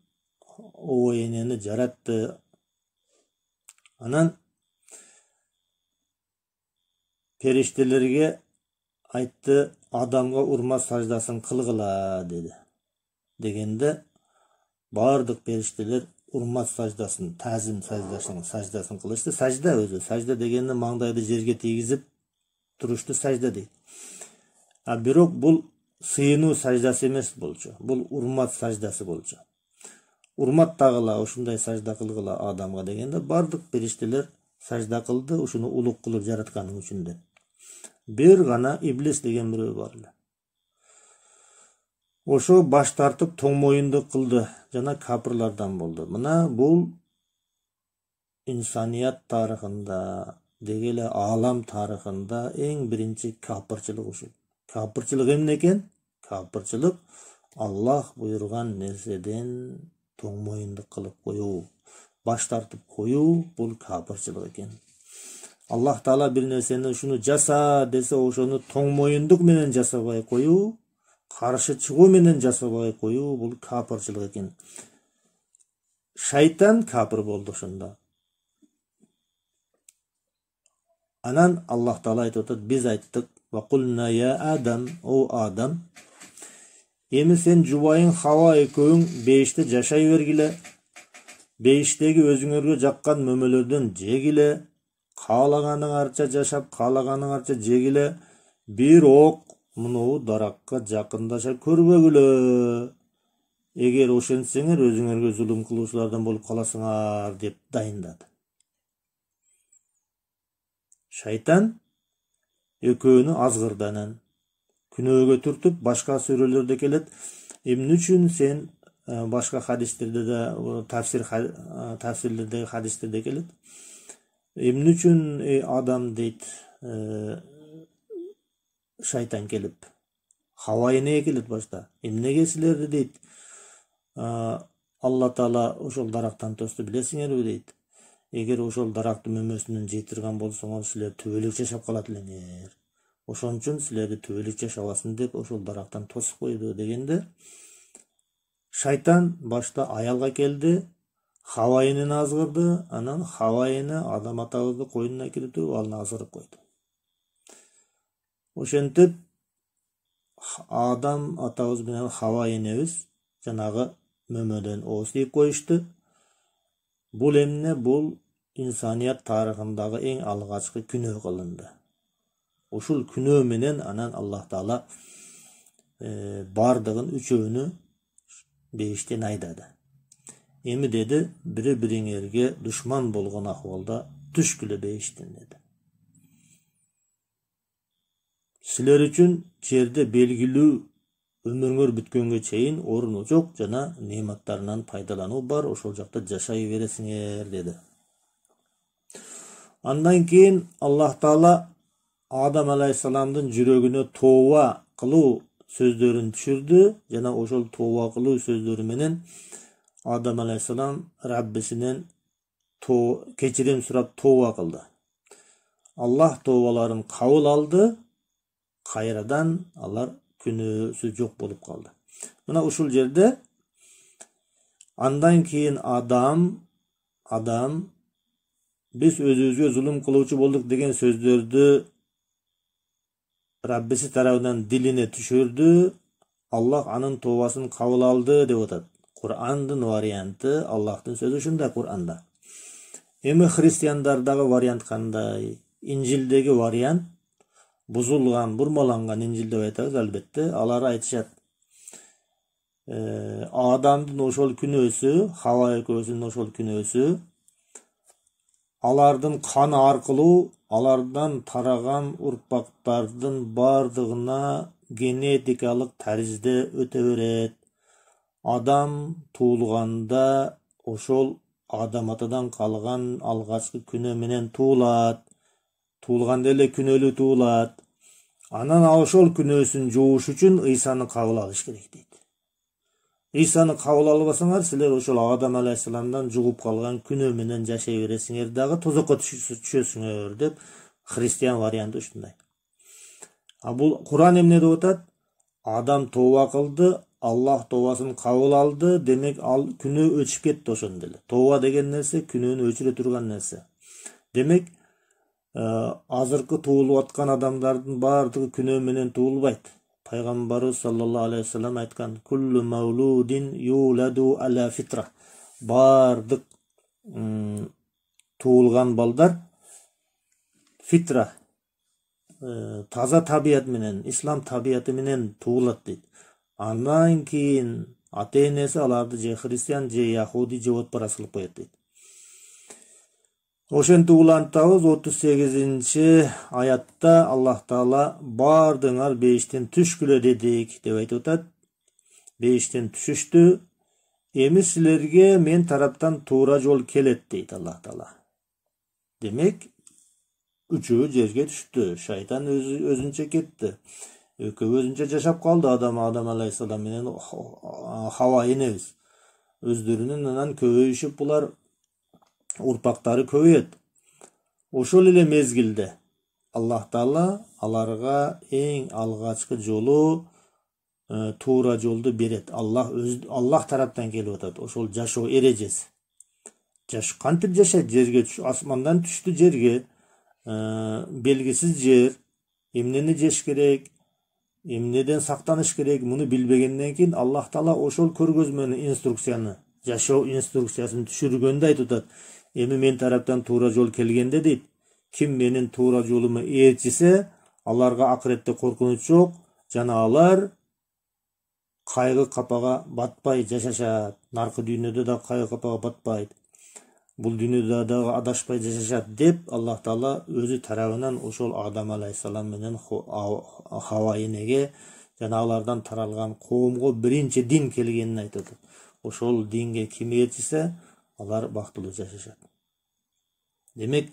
[SPEAKER 1] Ова энени жаратты. Анан периштелерге айтты: "Адамга урмат саждасын кылгыла" деди. Дегенде бардык периштелер урмат саждасын, тазим саждасын кылышты. Сажда өзү, сажда дегенде маңдайды жерге тийгизип турушту сажда дейт. Бирок бул сыйынуу саждасы эмес болчу. Бул урмат саждасы болчу. Урмат тагыла, ушундай сажда кылгыла Адамга дегенде бардык периштелер сажда кылды, ушуну улук кылып жаратканың үчүн деп. Бир гана Иблис деген бирөө бар эле. Ошо баш тартып тоң моюндук кылды жана капырлардан болду. Мына бул инсаният тарыхында, деги эле аалам тарыхында эң биринчи капырчылык ушул. Капырчылык эмне экен? Капырчылык Аллах буйруган нерседен тоң моюндук кылып коюу, баш тартып коюу бул капырчылык экен. Аллах Таала бир нерсени ушуну жаса десе, ошону тоң моюндук менен жасабай коюу, каршы чыгуу менен жасабай коюу бул капырчылык экен. Шайтан капыр болду ошондо. Анан Аллах Таала айтып атат: "Биз айттык: "Ва кулна я Адам, о Адам, эми сен жубайың Хава экөөң бейиште жашай бергиле. Бейиштеги өзүңөргө жаккан мөмөлөрдөн жегиле, каалаганыңарча жашап, каалаганыңарча жегиле. Бирок мунуу даракка жакындаша көрбөгүлө. Эгер ошентсеңер, өзүңөргө зулум кылуучулардан болуп каласыңар" деп дайындады. Шайтан экөөнү азгырды. Анан күнөөгө түртүп, башка сүрөлөрдө келет. Эмне үчүн сен, башка хадистерде да, тафсирлердеги хадистерде келет. Эмне үчүн Адам дейт, шайтан келип, Хава энеге келет башта. Эмнеге силерди дейт, Алла Таала ошол дарактан тосту билесиңерби дейт. Эгер ошол дарактын мөмөсүнөн жей турган болсоңор, силер түбөлүк жашап калат элеңер. Ошон үчүн силерди түбөлүк жашабасын деп ошол дарактан тосуп койду дегенде, шайтан башта аялга келди, Хава энени азгырды. Анан Хава эне Адам атабызды койнуна кирип туруп аны азгырып койду. Ошентип Адам атабыз менен Хава энебиз жанагы мөмөдөн ооз тийип коюшту. Бул эмне? Бул инсаният тарыхындагы эң алгачкы күнөө кылынды. Ушул күнөө менен анан Аллах Таала бардыгын үчөөнү бейиштен айдады. Эми деди, бири-бириңерге душман болгон акыбалда түшкүлө бейиштен деди. Силер үчүн жерде белгилүү өмүрүңөр бүткөнгө чейин орну жок жана нематтарынан пайдалануу бар, ошол жакта жашай бересиңер деди. Андан кийин Аллах Таала Адам алейхиссаламдын жүрөгүнө тооба кылуу сөздөрүн түшүрдү жана ошол тооба кылуу сөздөрү менен Адам алейхиссалам Раббисинен кечирим сурап тооба кылды. Аллах тообаларын кабыл алды. Кайрадан алар күнөөсү жок болуп калды. Мына ушул жерде андан кийин Адам биз өзүбүзгө зулум кылуучу болдук деген сөздөрдү Раббиси тарабынан дилине түшүрдү. Аллах анын тообасын кабыл алды деп атат. Кур'андын варианты, Аллахтын сөзү ушундай Кур'анда. Эми христиандардагы вариант кандай? Инжилдеги вариант бузулган, бурмаланган Инжил деп айтабыз албетте. Алар айтышат, Адамдын ошол күнөөсү, Хава экөөсүнүн ошол күнөөсү алардын каны аркылуу алардан тараган урпактардын бардыгына генетикалык таризде өтө берет. адам туулганда ошол Адам атадан калган алгачкы күнөө менен туулат. Туулганда эле күнөөлүү туулат. Анан ошол күнөөсүн жууш үчүн Ыйсаны кабыл алыш керек дейт. Ыйсаны кабыл албасаңар, силер ошол Адам алейхисаламдан жугуп калган күнөө менен жашай бересиңер дагы тозокко түшөсүңөр деп христиан варианты ушундай. А бул Куран эмне деп атат? Адам тооба кылды, Аллах тообасын кабыл алды, демек ал күнөө өчүп кетти ошондо эле. Тооба деген нерсе күнөөнү өчүрө турган нерсе. Демек, азыркы туулуп аткан адамдардын баардыгы күнөө менен туулбайт. Пайгамбарыбыз саллаллаху алейхи вассалам айткан: "Куллу маулудин юладу аля фитра." Бардык туулган балдар фитра, таза табият менен, ислам табияты менен туулат дейт. Андан кийин ата-энеси аларды же христиан, же яхуди, же отпарас кылып коет дейт. Ошентип улантабыз 38 аятта Аллах Таала бардыңар бейиштен түшкүлө дедик деп айтып атат. Бейиштен түшүштү. Эми силерге мен тараптан туура жол келет дейт Аллах Таала. Демек, үчөө жерге түштү. Шайтан өзүнчө кетти. Экөө өзүнчө жашап калды Адам алейхисалам менен Хава энебиз. Өздөрүнүн анан көбөйүшүп булар урпактары көбөйөт. Ошол эле мезгилде Аллах Таала аларга эң алгачкы жолу туура жолду берет. Аллах тараптан келип атат. Ошол жашоо эрежеси. Кантип жашайт? Жерге асмандан түштү жерге. Белгисиз жер. Эмнени жеш керек? Эмнеден сактаныш керек? Муну билбегенден кийин Аллах Таала ошол көргөзмөнү, инструкцияны, жашоо инструкциясын түшүргөндө айтып атат. Эми мен тараптан туура жол келгенде дейт, ким менин туура жолума ээрчисе, аларга акыретте коркунуч жок, жана алар кайгы капага батпай жашашат. Наркы дүйнөдө да кайгы капага батпайт. Бул дүйнөдө дагы адашпай жашашат деп Аллах Таала өзү тарабынан ошол Адам алейхисалам менен Хава энеге жана алардан таралган коомго биринчи дин келгенин айтып атат. Ошол динге ким ээрчисе, алар бактылуу жашашат. Демек,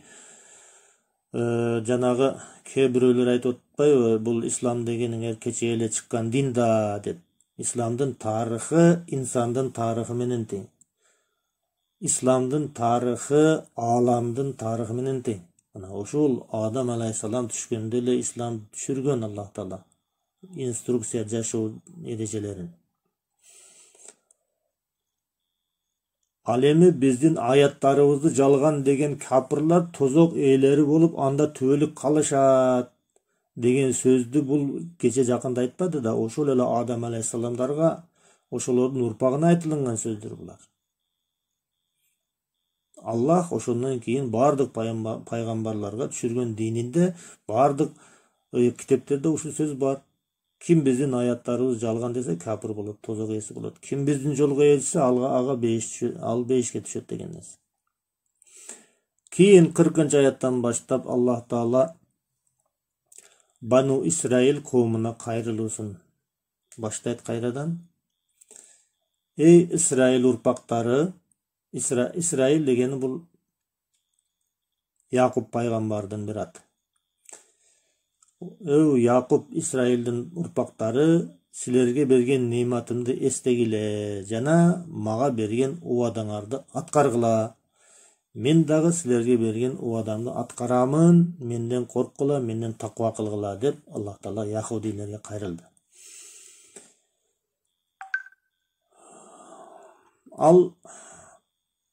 [SPEAKER 1] жанагы кээ бирөөлөр айтып атпайбы, бул ислам дегениңер кече эле чыккан дин да деп. Исламдын тарыхы инсандын тарыхы менен тең. Исламдын тарыхы ааламдын тарыхы менен тең. Мына ошол Адам алейхисалам түшкөндө эле ислам түшүргөн Аллах Таала инструкция жашоо эрежелерин. Ал эми биздин аяттарыбызды жалган деген капырлар тозок ээлери болуп, анда түбөлүк калышат деген сөздү бул кече жакында айтпады да, ошол эле Адам алейхисаламдарга, ошолордун урпагына айтылган сөздөр булар. Аллах ошондон кийин бардык пайгамбарларга түшүргөн дининде, бардык китептерде ушул сөз бар. Ким биздин аяттарыбыз жалган десе, капыр болот, тозок ээси болот. Ким биздин жолго ээрчисе, ал бейишке түшөт деген нерсе. Кийин 40-аяттан баштап Аллах Таала Бану Исраил коомуна кайрылуусун баштайт кайрадан. Эй Исраил урпактары, Исраил дегени бул Якуб пайгамбардын бир аты. Якуб, Исраилдин урпактары, силерге берген нематымды эстегиле жана мага берген убадаңарды аткаргыла. Мен дагы силерге берген убадамды аткарамын, менден корккула, менден таква кылгыла деп Аллах Таала яхудилерге кайрылды.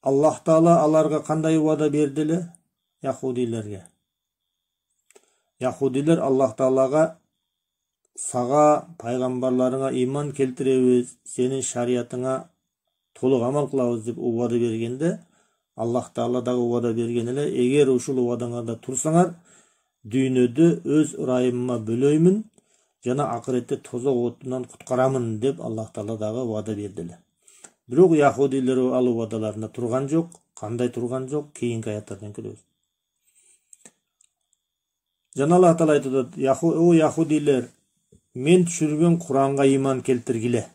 [SPEAKER 1] Аллах Таала аларга кандай убада берди эле? Яхудилерге. Яхудилер Аллах Таалага сага пайгамбарларыңа иман келтиребиз, сенин шариятыңа толук амал кылабыз деп убада бергенде, Аллах Таала дагы убада берген эле, эгер ушул убадаңарда турсаңар, дүйнөдө өз ырайымыма бөлөймүн жана акыретте тозок отунан куткарамын деп Аллах Таала дагы убада берди эле. Бирок яхудилер ал убадаларында турган жок. Кандай турган жок? Кийинки аяттардан көрөбүз. Жана Аллах Таала айтат: "О яхудилер, мен түшүргөн Куранга иман келтиргиле."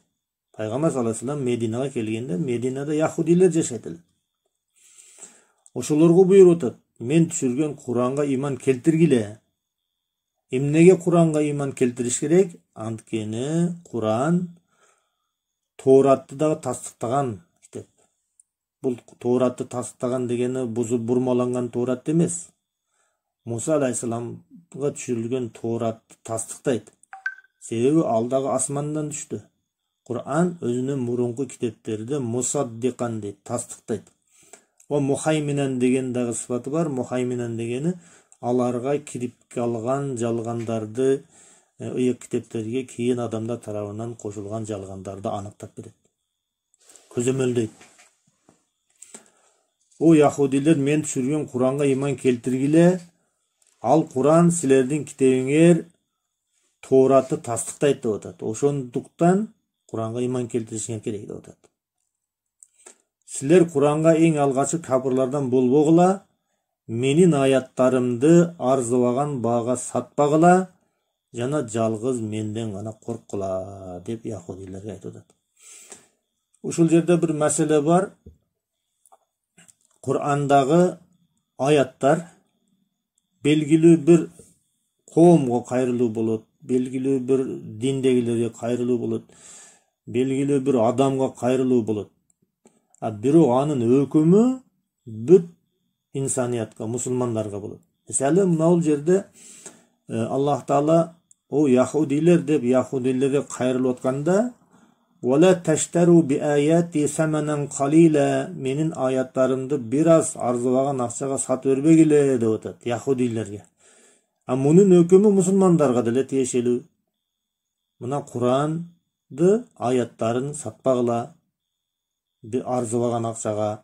[SPEAKER 1] Пайгамбар саллаллаху алейхи вассалам Мединага келгенде, Мединада яхудилер жашайт эле. Ошолорго буйруп атат: мен түшүргөн Куранга иман келтиргиле. Эмнеге Куранга иман келтириш керек? Анткени Куран Тооратты дагы тастыктаган китеп. Бул Тооратты тастыктаган дегени бузуп бурмаланган Тоорат эмес. Муса алейхисаламга түшүрүлгөн Тооратты тастыктайт. Себеби ал дагы асмандан түштү. Куран өзүнүн мурунку китептерде мусаддикан дейт, тастыктайт. О мухайминан деген дагы сыфаты бар. Мухайминан дегени аларга кирип калган жалгандарды, ыйык китептерге кийин адамдар тарабынан кошулган жалгандарды аныктап берет. Көзөмөлдөйт. О яхудилер, мен түшүргөн Куранга иман келтиргиле. Ал Куран силердин китебиңер Тооратты тастыктайт деп атат. Ошондуктан Куранга иман келтиришиңер керек деп атат. Силер Куранга эң алгачкы капырлардан болбогула, менин аяттарымды арзыбаган баага сатпагыла, жана жалгыз менден гана корккула деп яхудилерге айтып атат. Ушул жерде бир маселе бар. Курандагы аяттар белгилүү бир коомго кайрылуу болот, белгилүү бир диндегилерге кайрылуу болот, белгилүү бир адамга кайрылуу болот. Бирок анын өкүмү бүт инсаниятка, мусулмандарга болот. Мисалы, мына жерде Аллах Таала о яхудилер деп яхудилерге кайрылып атканда, "Вала таштару би аяти саманан қалила", менин аяттарымды бир аз арзыбаган акчага сатып бербегиле деп атат яхудилерге. Мунун өкүмү мусулмандарга деле тиешелүү. Мына Куранды аяттарын сатпагыла бир арзыбаган акчага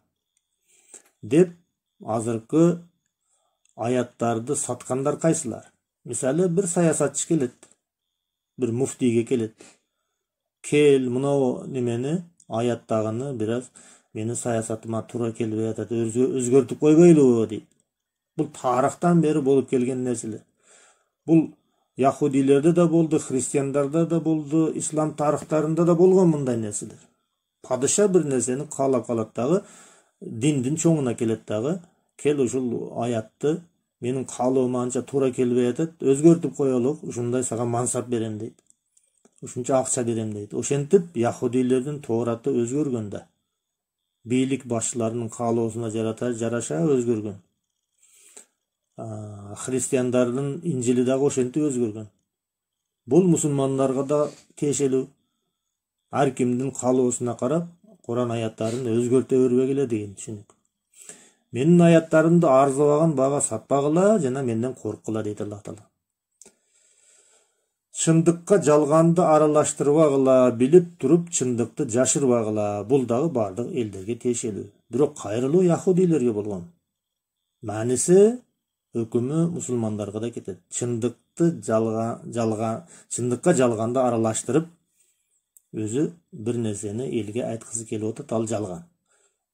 [SPEAKER 1] деп азыркы аяттарды саткандар кайсылар? Мисалы, бир саясатчы келет, бир муфтийге келет. Кел, мына немени, аяттагыны бир аз менин саясатыма туура келбей атат, өзгөртүп койбойлубу дейт. Бул тарыхтан бери болуп келген нерселер. Бул яхудилерде да болду, христиандарда да болду, ислам тарыхтарында да болгон мындай нерселер. Падыша бир нерсени каалап калат дагы, диндин чоңуна келет дагы, кел ушул аятты менин каалоома анча туура келбей атат, өзгөртүп коелук, ушундай сага мансап берем дейт. Ушунча акча берем дейт. Ошентип яхудилердин Тоораты өзгөргөн да. Бийлик башчыларынын каалоосуна жараша өзгөргөн. Христиандардын Инжили дагы ошентип өзгөргөн. Бул мусулмандарга да тиешелүү. Ар кимдин каалоосуна карап Куран аяттарын өзгөртө бербегиле деген түшүнүк. Менин аяттарымды арзыбаган баага сатпагыла, жана менден корккула дейт Аллах Таала. Чындыкка жалганды аралаштырбагыла, билип туруп чындыкты жашырбагыла. Бул дагы бардык элдерге тиешелүү. Бирок кайрылуу яхудилерге болгон. Мааниси өкүмү мусулмандарга да кетет. Чындыкка жалганды аралаштырып өзү бир нерсени элге айткысы келип атат, ал жалган.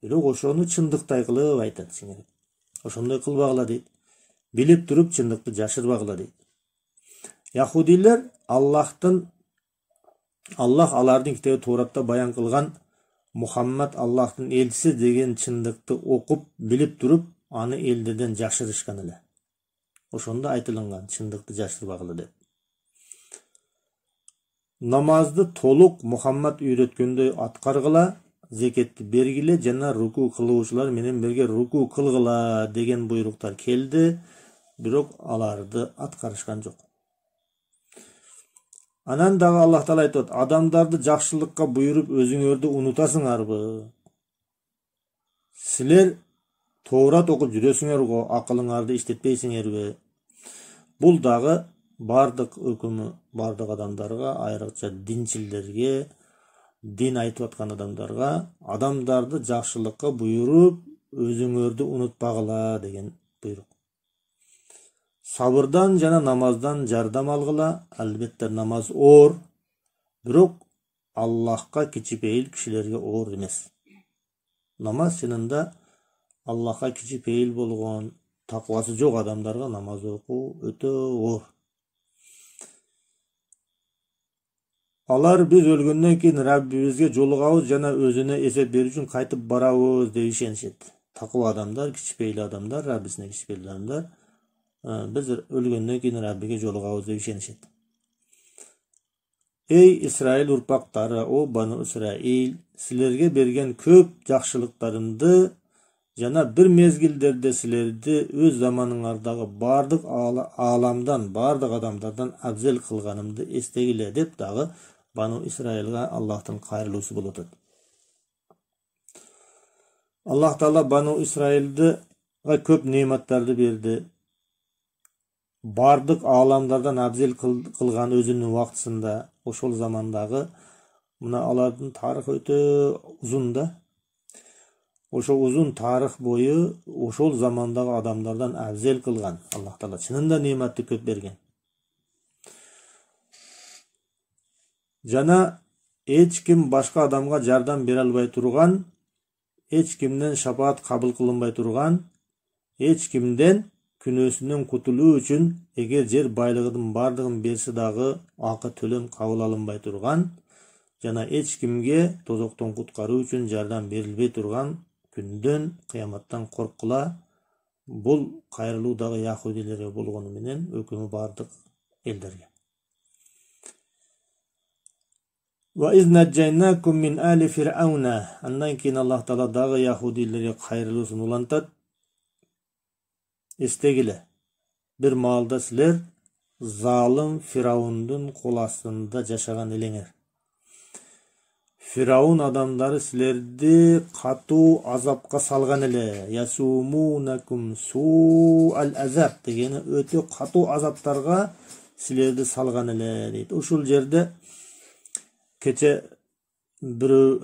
[SPEAKER 1] Бирок ошону чындыктай кылып айтат сиңер. Ошондой кылбагыла дейт. Билип туруп чындыкты жашырбагыла дейт. Яхудилер Аллах алардын китеби Тооратта баян кылган Мухаммад Аллахтын элчиси деген чындыкты окуп, билип туруп, аны элдерден жашырышкан эле. Ошондо айтылган чындыкты жашырбагыла деп. Намазды толук Мухаммад үйрөткөндөй аткаргыла, зекетти бергиле, жана руку кылуучулар менен бирге руку кылгыла деген буйруктар келди, бирок аларды аткарышкан жок. Анан дагы Аллах Таала айтат: "Адамдарды жакшылыкка буйруп өзүңөрдү унутасыңарбы? Силер Тоорат окуп жүрөсүңөр го, акылыңарды иштетпейсиңерби?" Бул дагы бардык өкүмү бардык адамдарга, айрыкча динчилерге, дин айтып аткан адамдарга, адамдарды жакшылыкка буйруп өзүңөрдү унутпагыла деген буйрук. Сабырдан жана намаздан жардам алгыла. Албетте намаз оор, бирок Аллахка кичипейил кишилерге оор эмес. Намаз чынында Аллахка кичипейил болгон, таквасы жок адамдарга намаз окуу өтө оор. Алар биз өлгөндөн кийин Раббибизге жолугабыз жана өзүнө эсеп берүү үчүн кайтып барабыз деп ишенишет. Такыба адамдар, кичпейли адамдар, Раббисине кичпейли адамдар биз өлгөндөн кийин Раббиге жолугабыз деп ишенишет. Эй Исраил урпактары, о Бану Исраил, силерге берген көп жакшылыктарымды жана бир мезгилдерде силерди өз заманыңардагы бардык ааламдан, бардык адамдардан абзел кылганымды эстегиле деп дагы Бану Исраилга Аллахтын кайрылуусу болот. Аллах Таала Бану Исраилга көп нематтарды берди. Бардык ааламдардан абзел кылган өзүнүн убактысында, ошол замандагы мына алардын тарыхы өтө узун да. Ошол узун тарых бою ошол замандагы адамдардан абзел кылган. Аллах Таала чынында нематты көп берген. Жана эч ким башка адамга жардам бере албай турган, эч кимден шафаат кабыл кылынбай турган, эч кимден күнөөсүнөн кутулуу үчүн эгер жер байлыгынын бардыгын берсе дагы акы төлөм кабыл алынбай турган, жана эч кимге тозоктон куткаруу үчүн жардам берилбей турган күндөн, кыяматтан корккула. Бул кайрылуу дагы яхудилерге болгону менен өкүмү бардык элдерге. Ва изнajjaynakum min ali fir'auna. Андан кийин Аллах Таала дагы яхудилерге кайрылуусун улантат. Эстегиле, бир маалда силер залым Фираундун кол астында жашаган элеңер. Фираун адамдары силерди катуу азапка салган эле. Ясумунакум су'ал азаб дегени өтө катуу азаптарга силерди салган эле дейт. Ушул жерде кече бирөө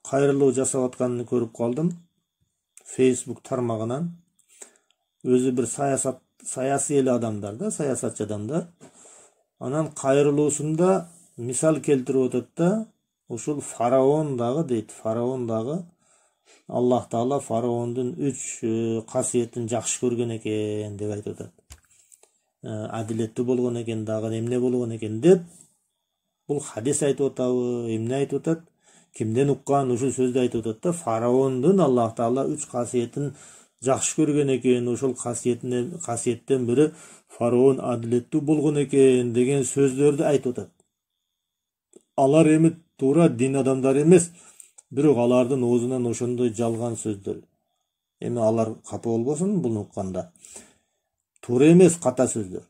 [SPEAKER 1] кайрылуу жасап атканын көрүп калдым. Facebook тармагынан. Өзү бир саясий эле адамдар да, саясатчы адамдар. Анан кайрылуусунда мисал келтирип атат да, ушул фараон дагы дейт. Фараон дагы Аллах Таала фараондун 3 касиетин жакшы көргөн экен деп айтып атат. Адилеттүү болгон экен, дагы эмне болгон экен деп. Бул хадис айтып атабы, эмне айтып атат? Кимден уккан ушул сөздү айтып атат да, фараондун Аллах Таала 3 касиетин жакшы көргөн экен, ошол касиеттен бири фараон адилеттүү болгон экен деген сөздөрдү айтып атат. Алар эми туура дин адамдары эмес, бирок алардын оозунан ошондой жалган сөздөр. Эми алар капа болбосун буну укканда. Туура эмес, ката сөздөр.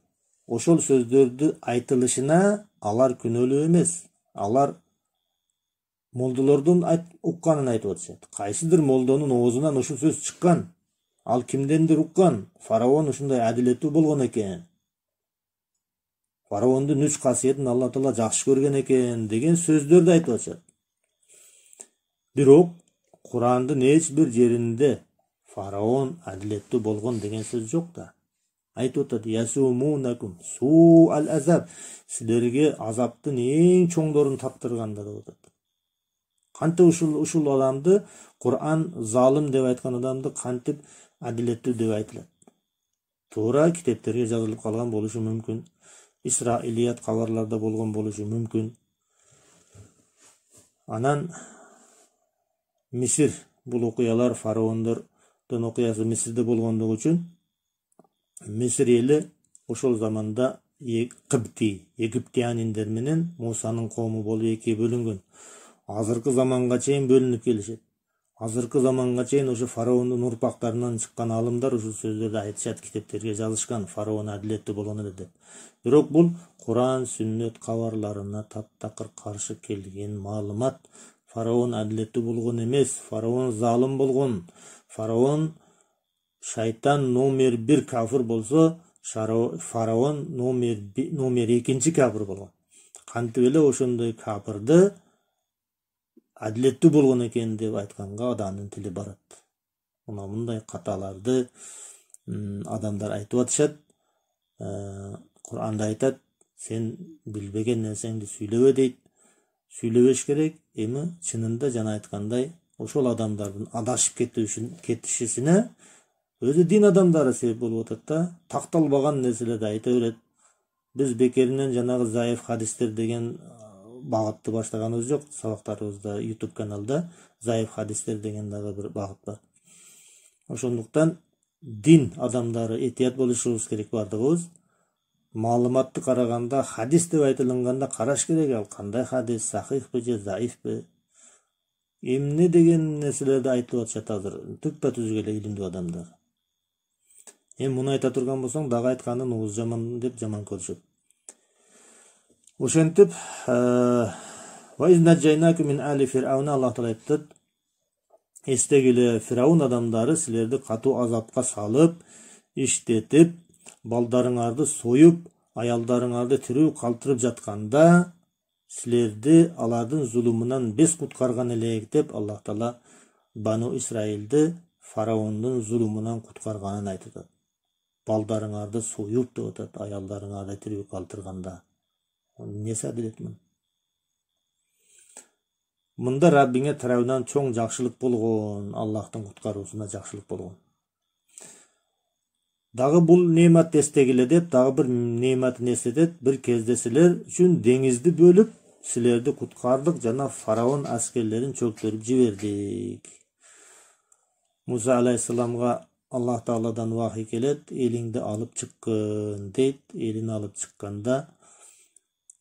[SPEAKER 1] Ошол сөздөрдү айтылышына алар күнөөлүү эмес. Алар молдолордун укканын айтып атышат. Кайсыдыр молдонун оозунан ушул сөз чыккан. Ал кимдендир уккан? Фараон ушундай адилеттүү болгон экен. Фараондун 3 касиетин Алла Таала жакшы көргөн экен деген сөздөрдү айтып атышат. Бирок Курандын эч бир жеринде фараон адилеттүү болгон деген сөз жок да. Айтып атат: "Ясумунакум су'ал азаб", силерге азаптын эң чоңдорун таптырганда деп атат. Кантип ушул адамды Куран залым деп айткан адамды кантип адилеттүү деп айтылат? Туура китептерге жазылып калган болушу мүмкүн. Исраилият кабарларда болгон болушу мүмкүн. Анан Мисир, бул окуялар фараондордун окуясы Мисирде болгондугу үчүн Мисир эли ошол заманда египтяниндер менен Мусанын коому болуп экиге бөлүнгөн. Азыркы заманга чейин бөлүнүп келишет. Азыркы заманга чейин ошо фараондун урпактарынан чыккан алымдар ушул сөздөрдү айтышат, китептерге жазышкан, фараон адилеттүү болгон эле деп. Бирок бул Куран, сүннөт кабарларына таптакыр каршы келген маалымат. Фараон адилеттүү болгон эмес, фараон залым болгон. Фараон шайтан номер 1 кафир болсо, фараон номер 2 кафир болгон. Кантип эле ошондой кафирди адилеттүү болгон экен деп айтканга адамдын тили барат. Мына мындай каталарды адамдар айтып атышат. Куранда айтат: "Сен билбеген нерсеңди сүйлөбө" дейт. Сүйлөбөш керек. Эми чынында жана айткандай, ошол адамдардын адашып кетишисине өзү дин адамдары себеп болуп атат да. Такталбаган нерселерди айта берет. Биз бекеринен жанагы заиф хадистер деген багытты баштаганыбыз жок. Сабактарыбызда YouTube каналда Заиф хадистер деген дагы бир багыт бар. Ошондуктан дин адамдары этият болушубуз керек бардыгыбыз. Маалыматты караганда хадис деп айтылганда караш керек, ал кандай хадис, сахихпи же заифпи, эмне деген нерселерди айтып атышат азыр түппө-түз эле илимдүү адамдар. Муну айта турган болсоң дагы айтканын ууз жаман деп жаман көрүшөт. Ошентип Аллах таала айтат, эстегиле Фираун адамдары силерди катуу азапка салып, иштетип, балдарыңарды союп, аялдарыңарды тирүү калтырып жатканда силерди алардын зулумунан бес куткарган элек деп Аллах таала Бану Исраилди фараондун зулумунан куткарганын айтат. Балдарыңарды союп деп атат, аялдарыңарды тирүү калтырганда. Эмнеси адилет мун? Мында Раббиңе тарабынан чоң жакшылык болгон, Аллахтын куткаруусуна жакшылык болгон. Дагы бул неемат эстегиле деп, дагы бир неематын эстетет. Бир кезде силер үчүн деңизди бөлүп, силерди куткардык жана фараон аскерлерин чөктүрүп жибердик. Муса алейхиссаламга Аллах Тааладан вахий келет, элиңди алып чыккын дейт. Элин алып чыкканда,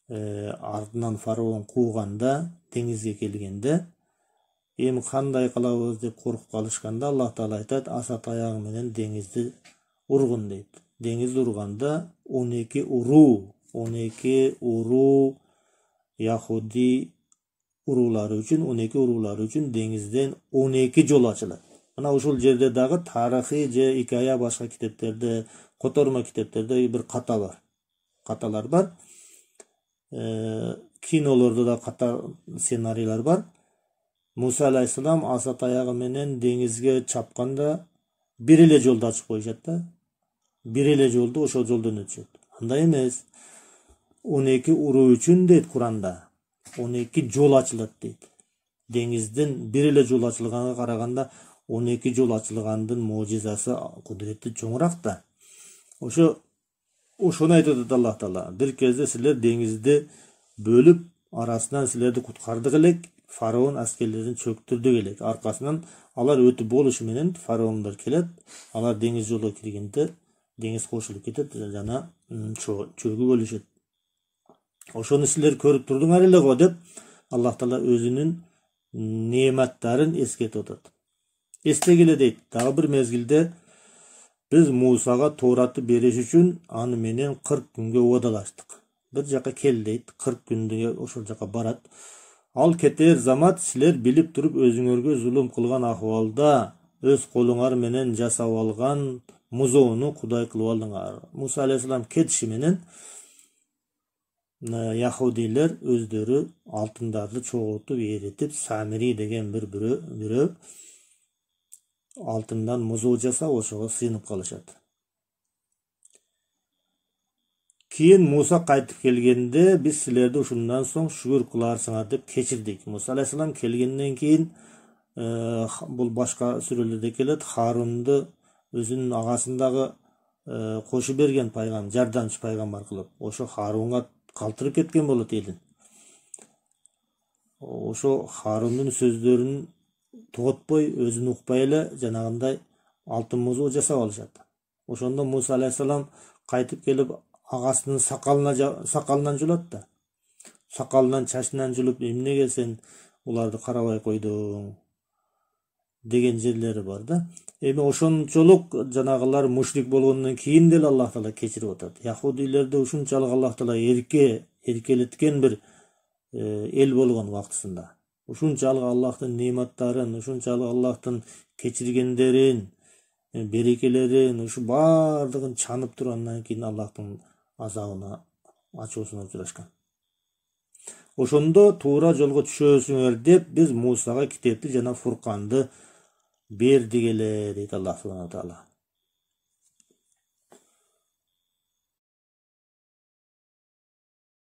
[SPEAKER 1] артынан фараон кууганда, деңизге келгенде, эми кандай кылабыз деп коркуп калышканда, Аллах Таала айтат, аса таягы менен деңизди ургун дейт. Деңизди урганда 12 уруу Яхуди уруулары үчүн деңизден 12 жол ачылат. Мына ушул жерде дагы тарыхый же икая башка китептерде, котормо китептерде бир каталар бар. Кинолордо да ката сценарийлер бар. Муса алейхиссалам аса таягы менен деңизге чапканда бир эле жолду ачып коюшат да. Бир эле жолду ошол жолдон өтүшөт. Андай эмес. 12 уруу үчүн дейт Куранда. 12 жол ачылат дейт. Деңизден бир эле жол ачылганга караганда 12 жол ачылгандын мужизасы, кудурети чоңураак да. Ошону айтат Аллах Таала. Бир кезде силер деңизди бөлүп, арасынан силерди куткардык элек, фараон аскерлерин чөктүрдүк элек. Аркасынан алар өтүп болушу менен фараондор келет, алар деңиз жолго киргенде деңиз кошулуп кетет жана чөгүп өлүшөт. Ошону силер көрүп турдуңар эле го деп Аллах Таала өзүнүн неематтарын эскертип атат. Эстегиле дейт, дагы бир мезгилде биз Мусага Тооратты бериш үчүн аны менен 40 күнгө уадалаштык. Бир жака кел дейт, 40 күндө ошол жака барат. Ал кетер замат силер билип туруп өзүңөргө зулум кылган акыбалда өз колуңар менен жасап алган музоону кудай кылып алдыңар. Муса алейхиссалам кетиши менен Яхудилер өздөрү алтындарды чогултуп эритип, Самири деген бир бирөө алтындан музоо жасап, ошого сыйынып калышат. Кийин Муса кайтып келгенде, биз силерди ушундан соң шүгүр кыларсыңар деп кечирдик. Муса алейхиссалам келгенден кийин, бул башка сүрөлөрдө келет, Харунду өзүнүн агасындагы кошу берген пайгам, жардамчы пайгамбар кылып, ошо Харунга калтырып кеткен болот элин. Ошо Харундун сөздөрүн тоготпой, өзүн укпай эле жанагындай алтын музоо жасап алышат. Ошондо Муса алейхиссалам кайтып келип агасынын сакалынан жулат да. Сакалынан, чачынан жулуп, эмнеге сен уларды карабай койдуң деген жерлери бар да. Эми ошончолук жанагылар мушрик болгондон кийин деле Аллах Таала кечирип атат. Яхудилерди ушунчалык Аллах Таала эркелеткен бир эл болгон вактысында. Ушунчалык Аллахтын неематтарын, ушунчалык Аллахтын кечиргендерин, берекелерин, ушу бардыгын чанып тургандан кийин Аллахтын азабына, ачуусуна учурашкан. Ошондо туура жолго түшөсүңөр деп биз Мусага китепти жана Фурканды бердик эле дейт Аллах субхана таала.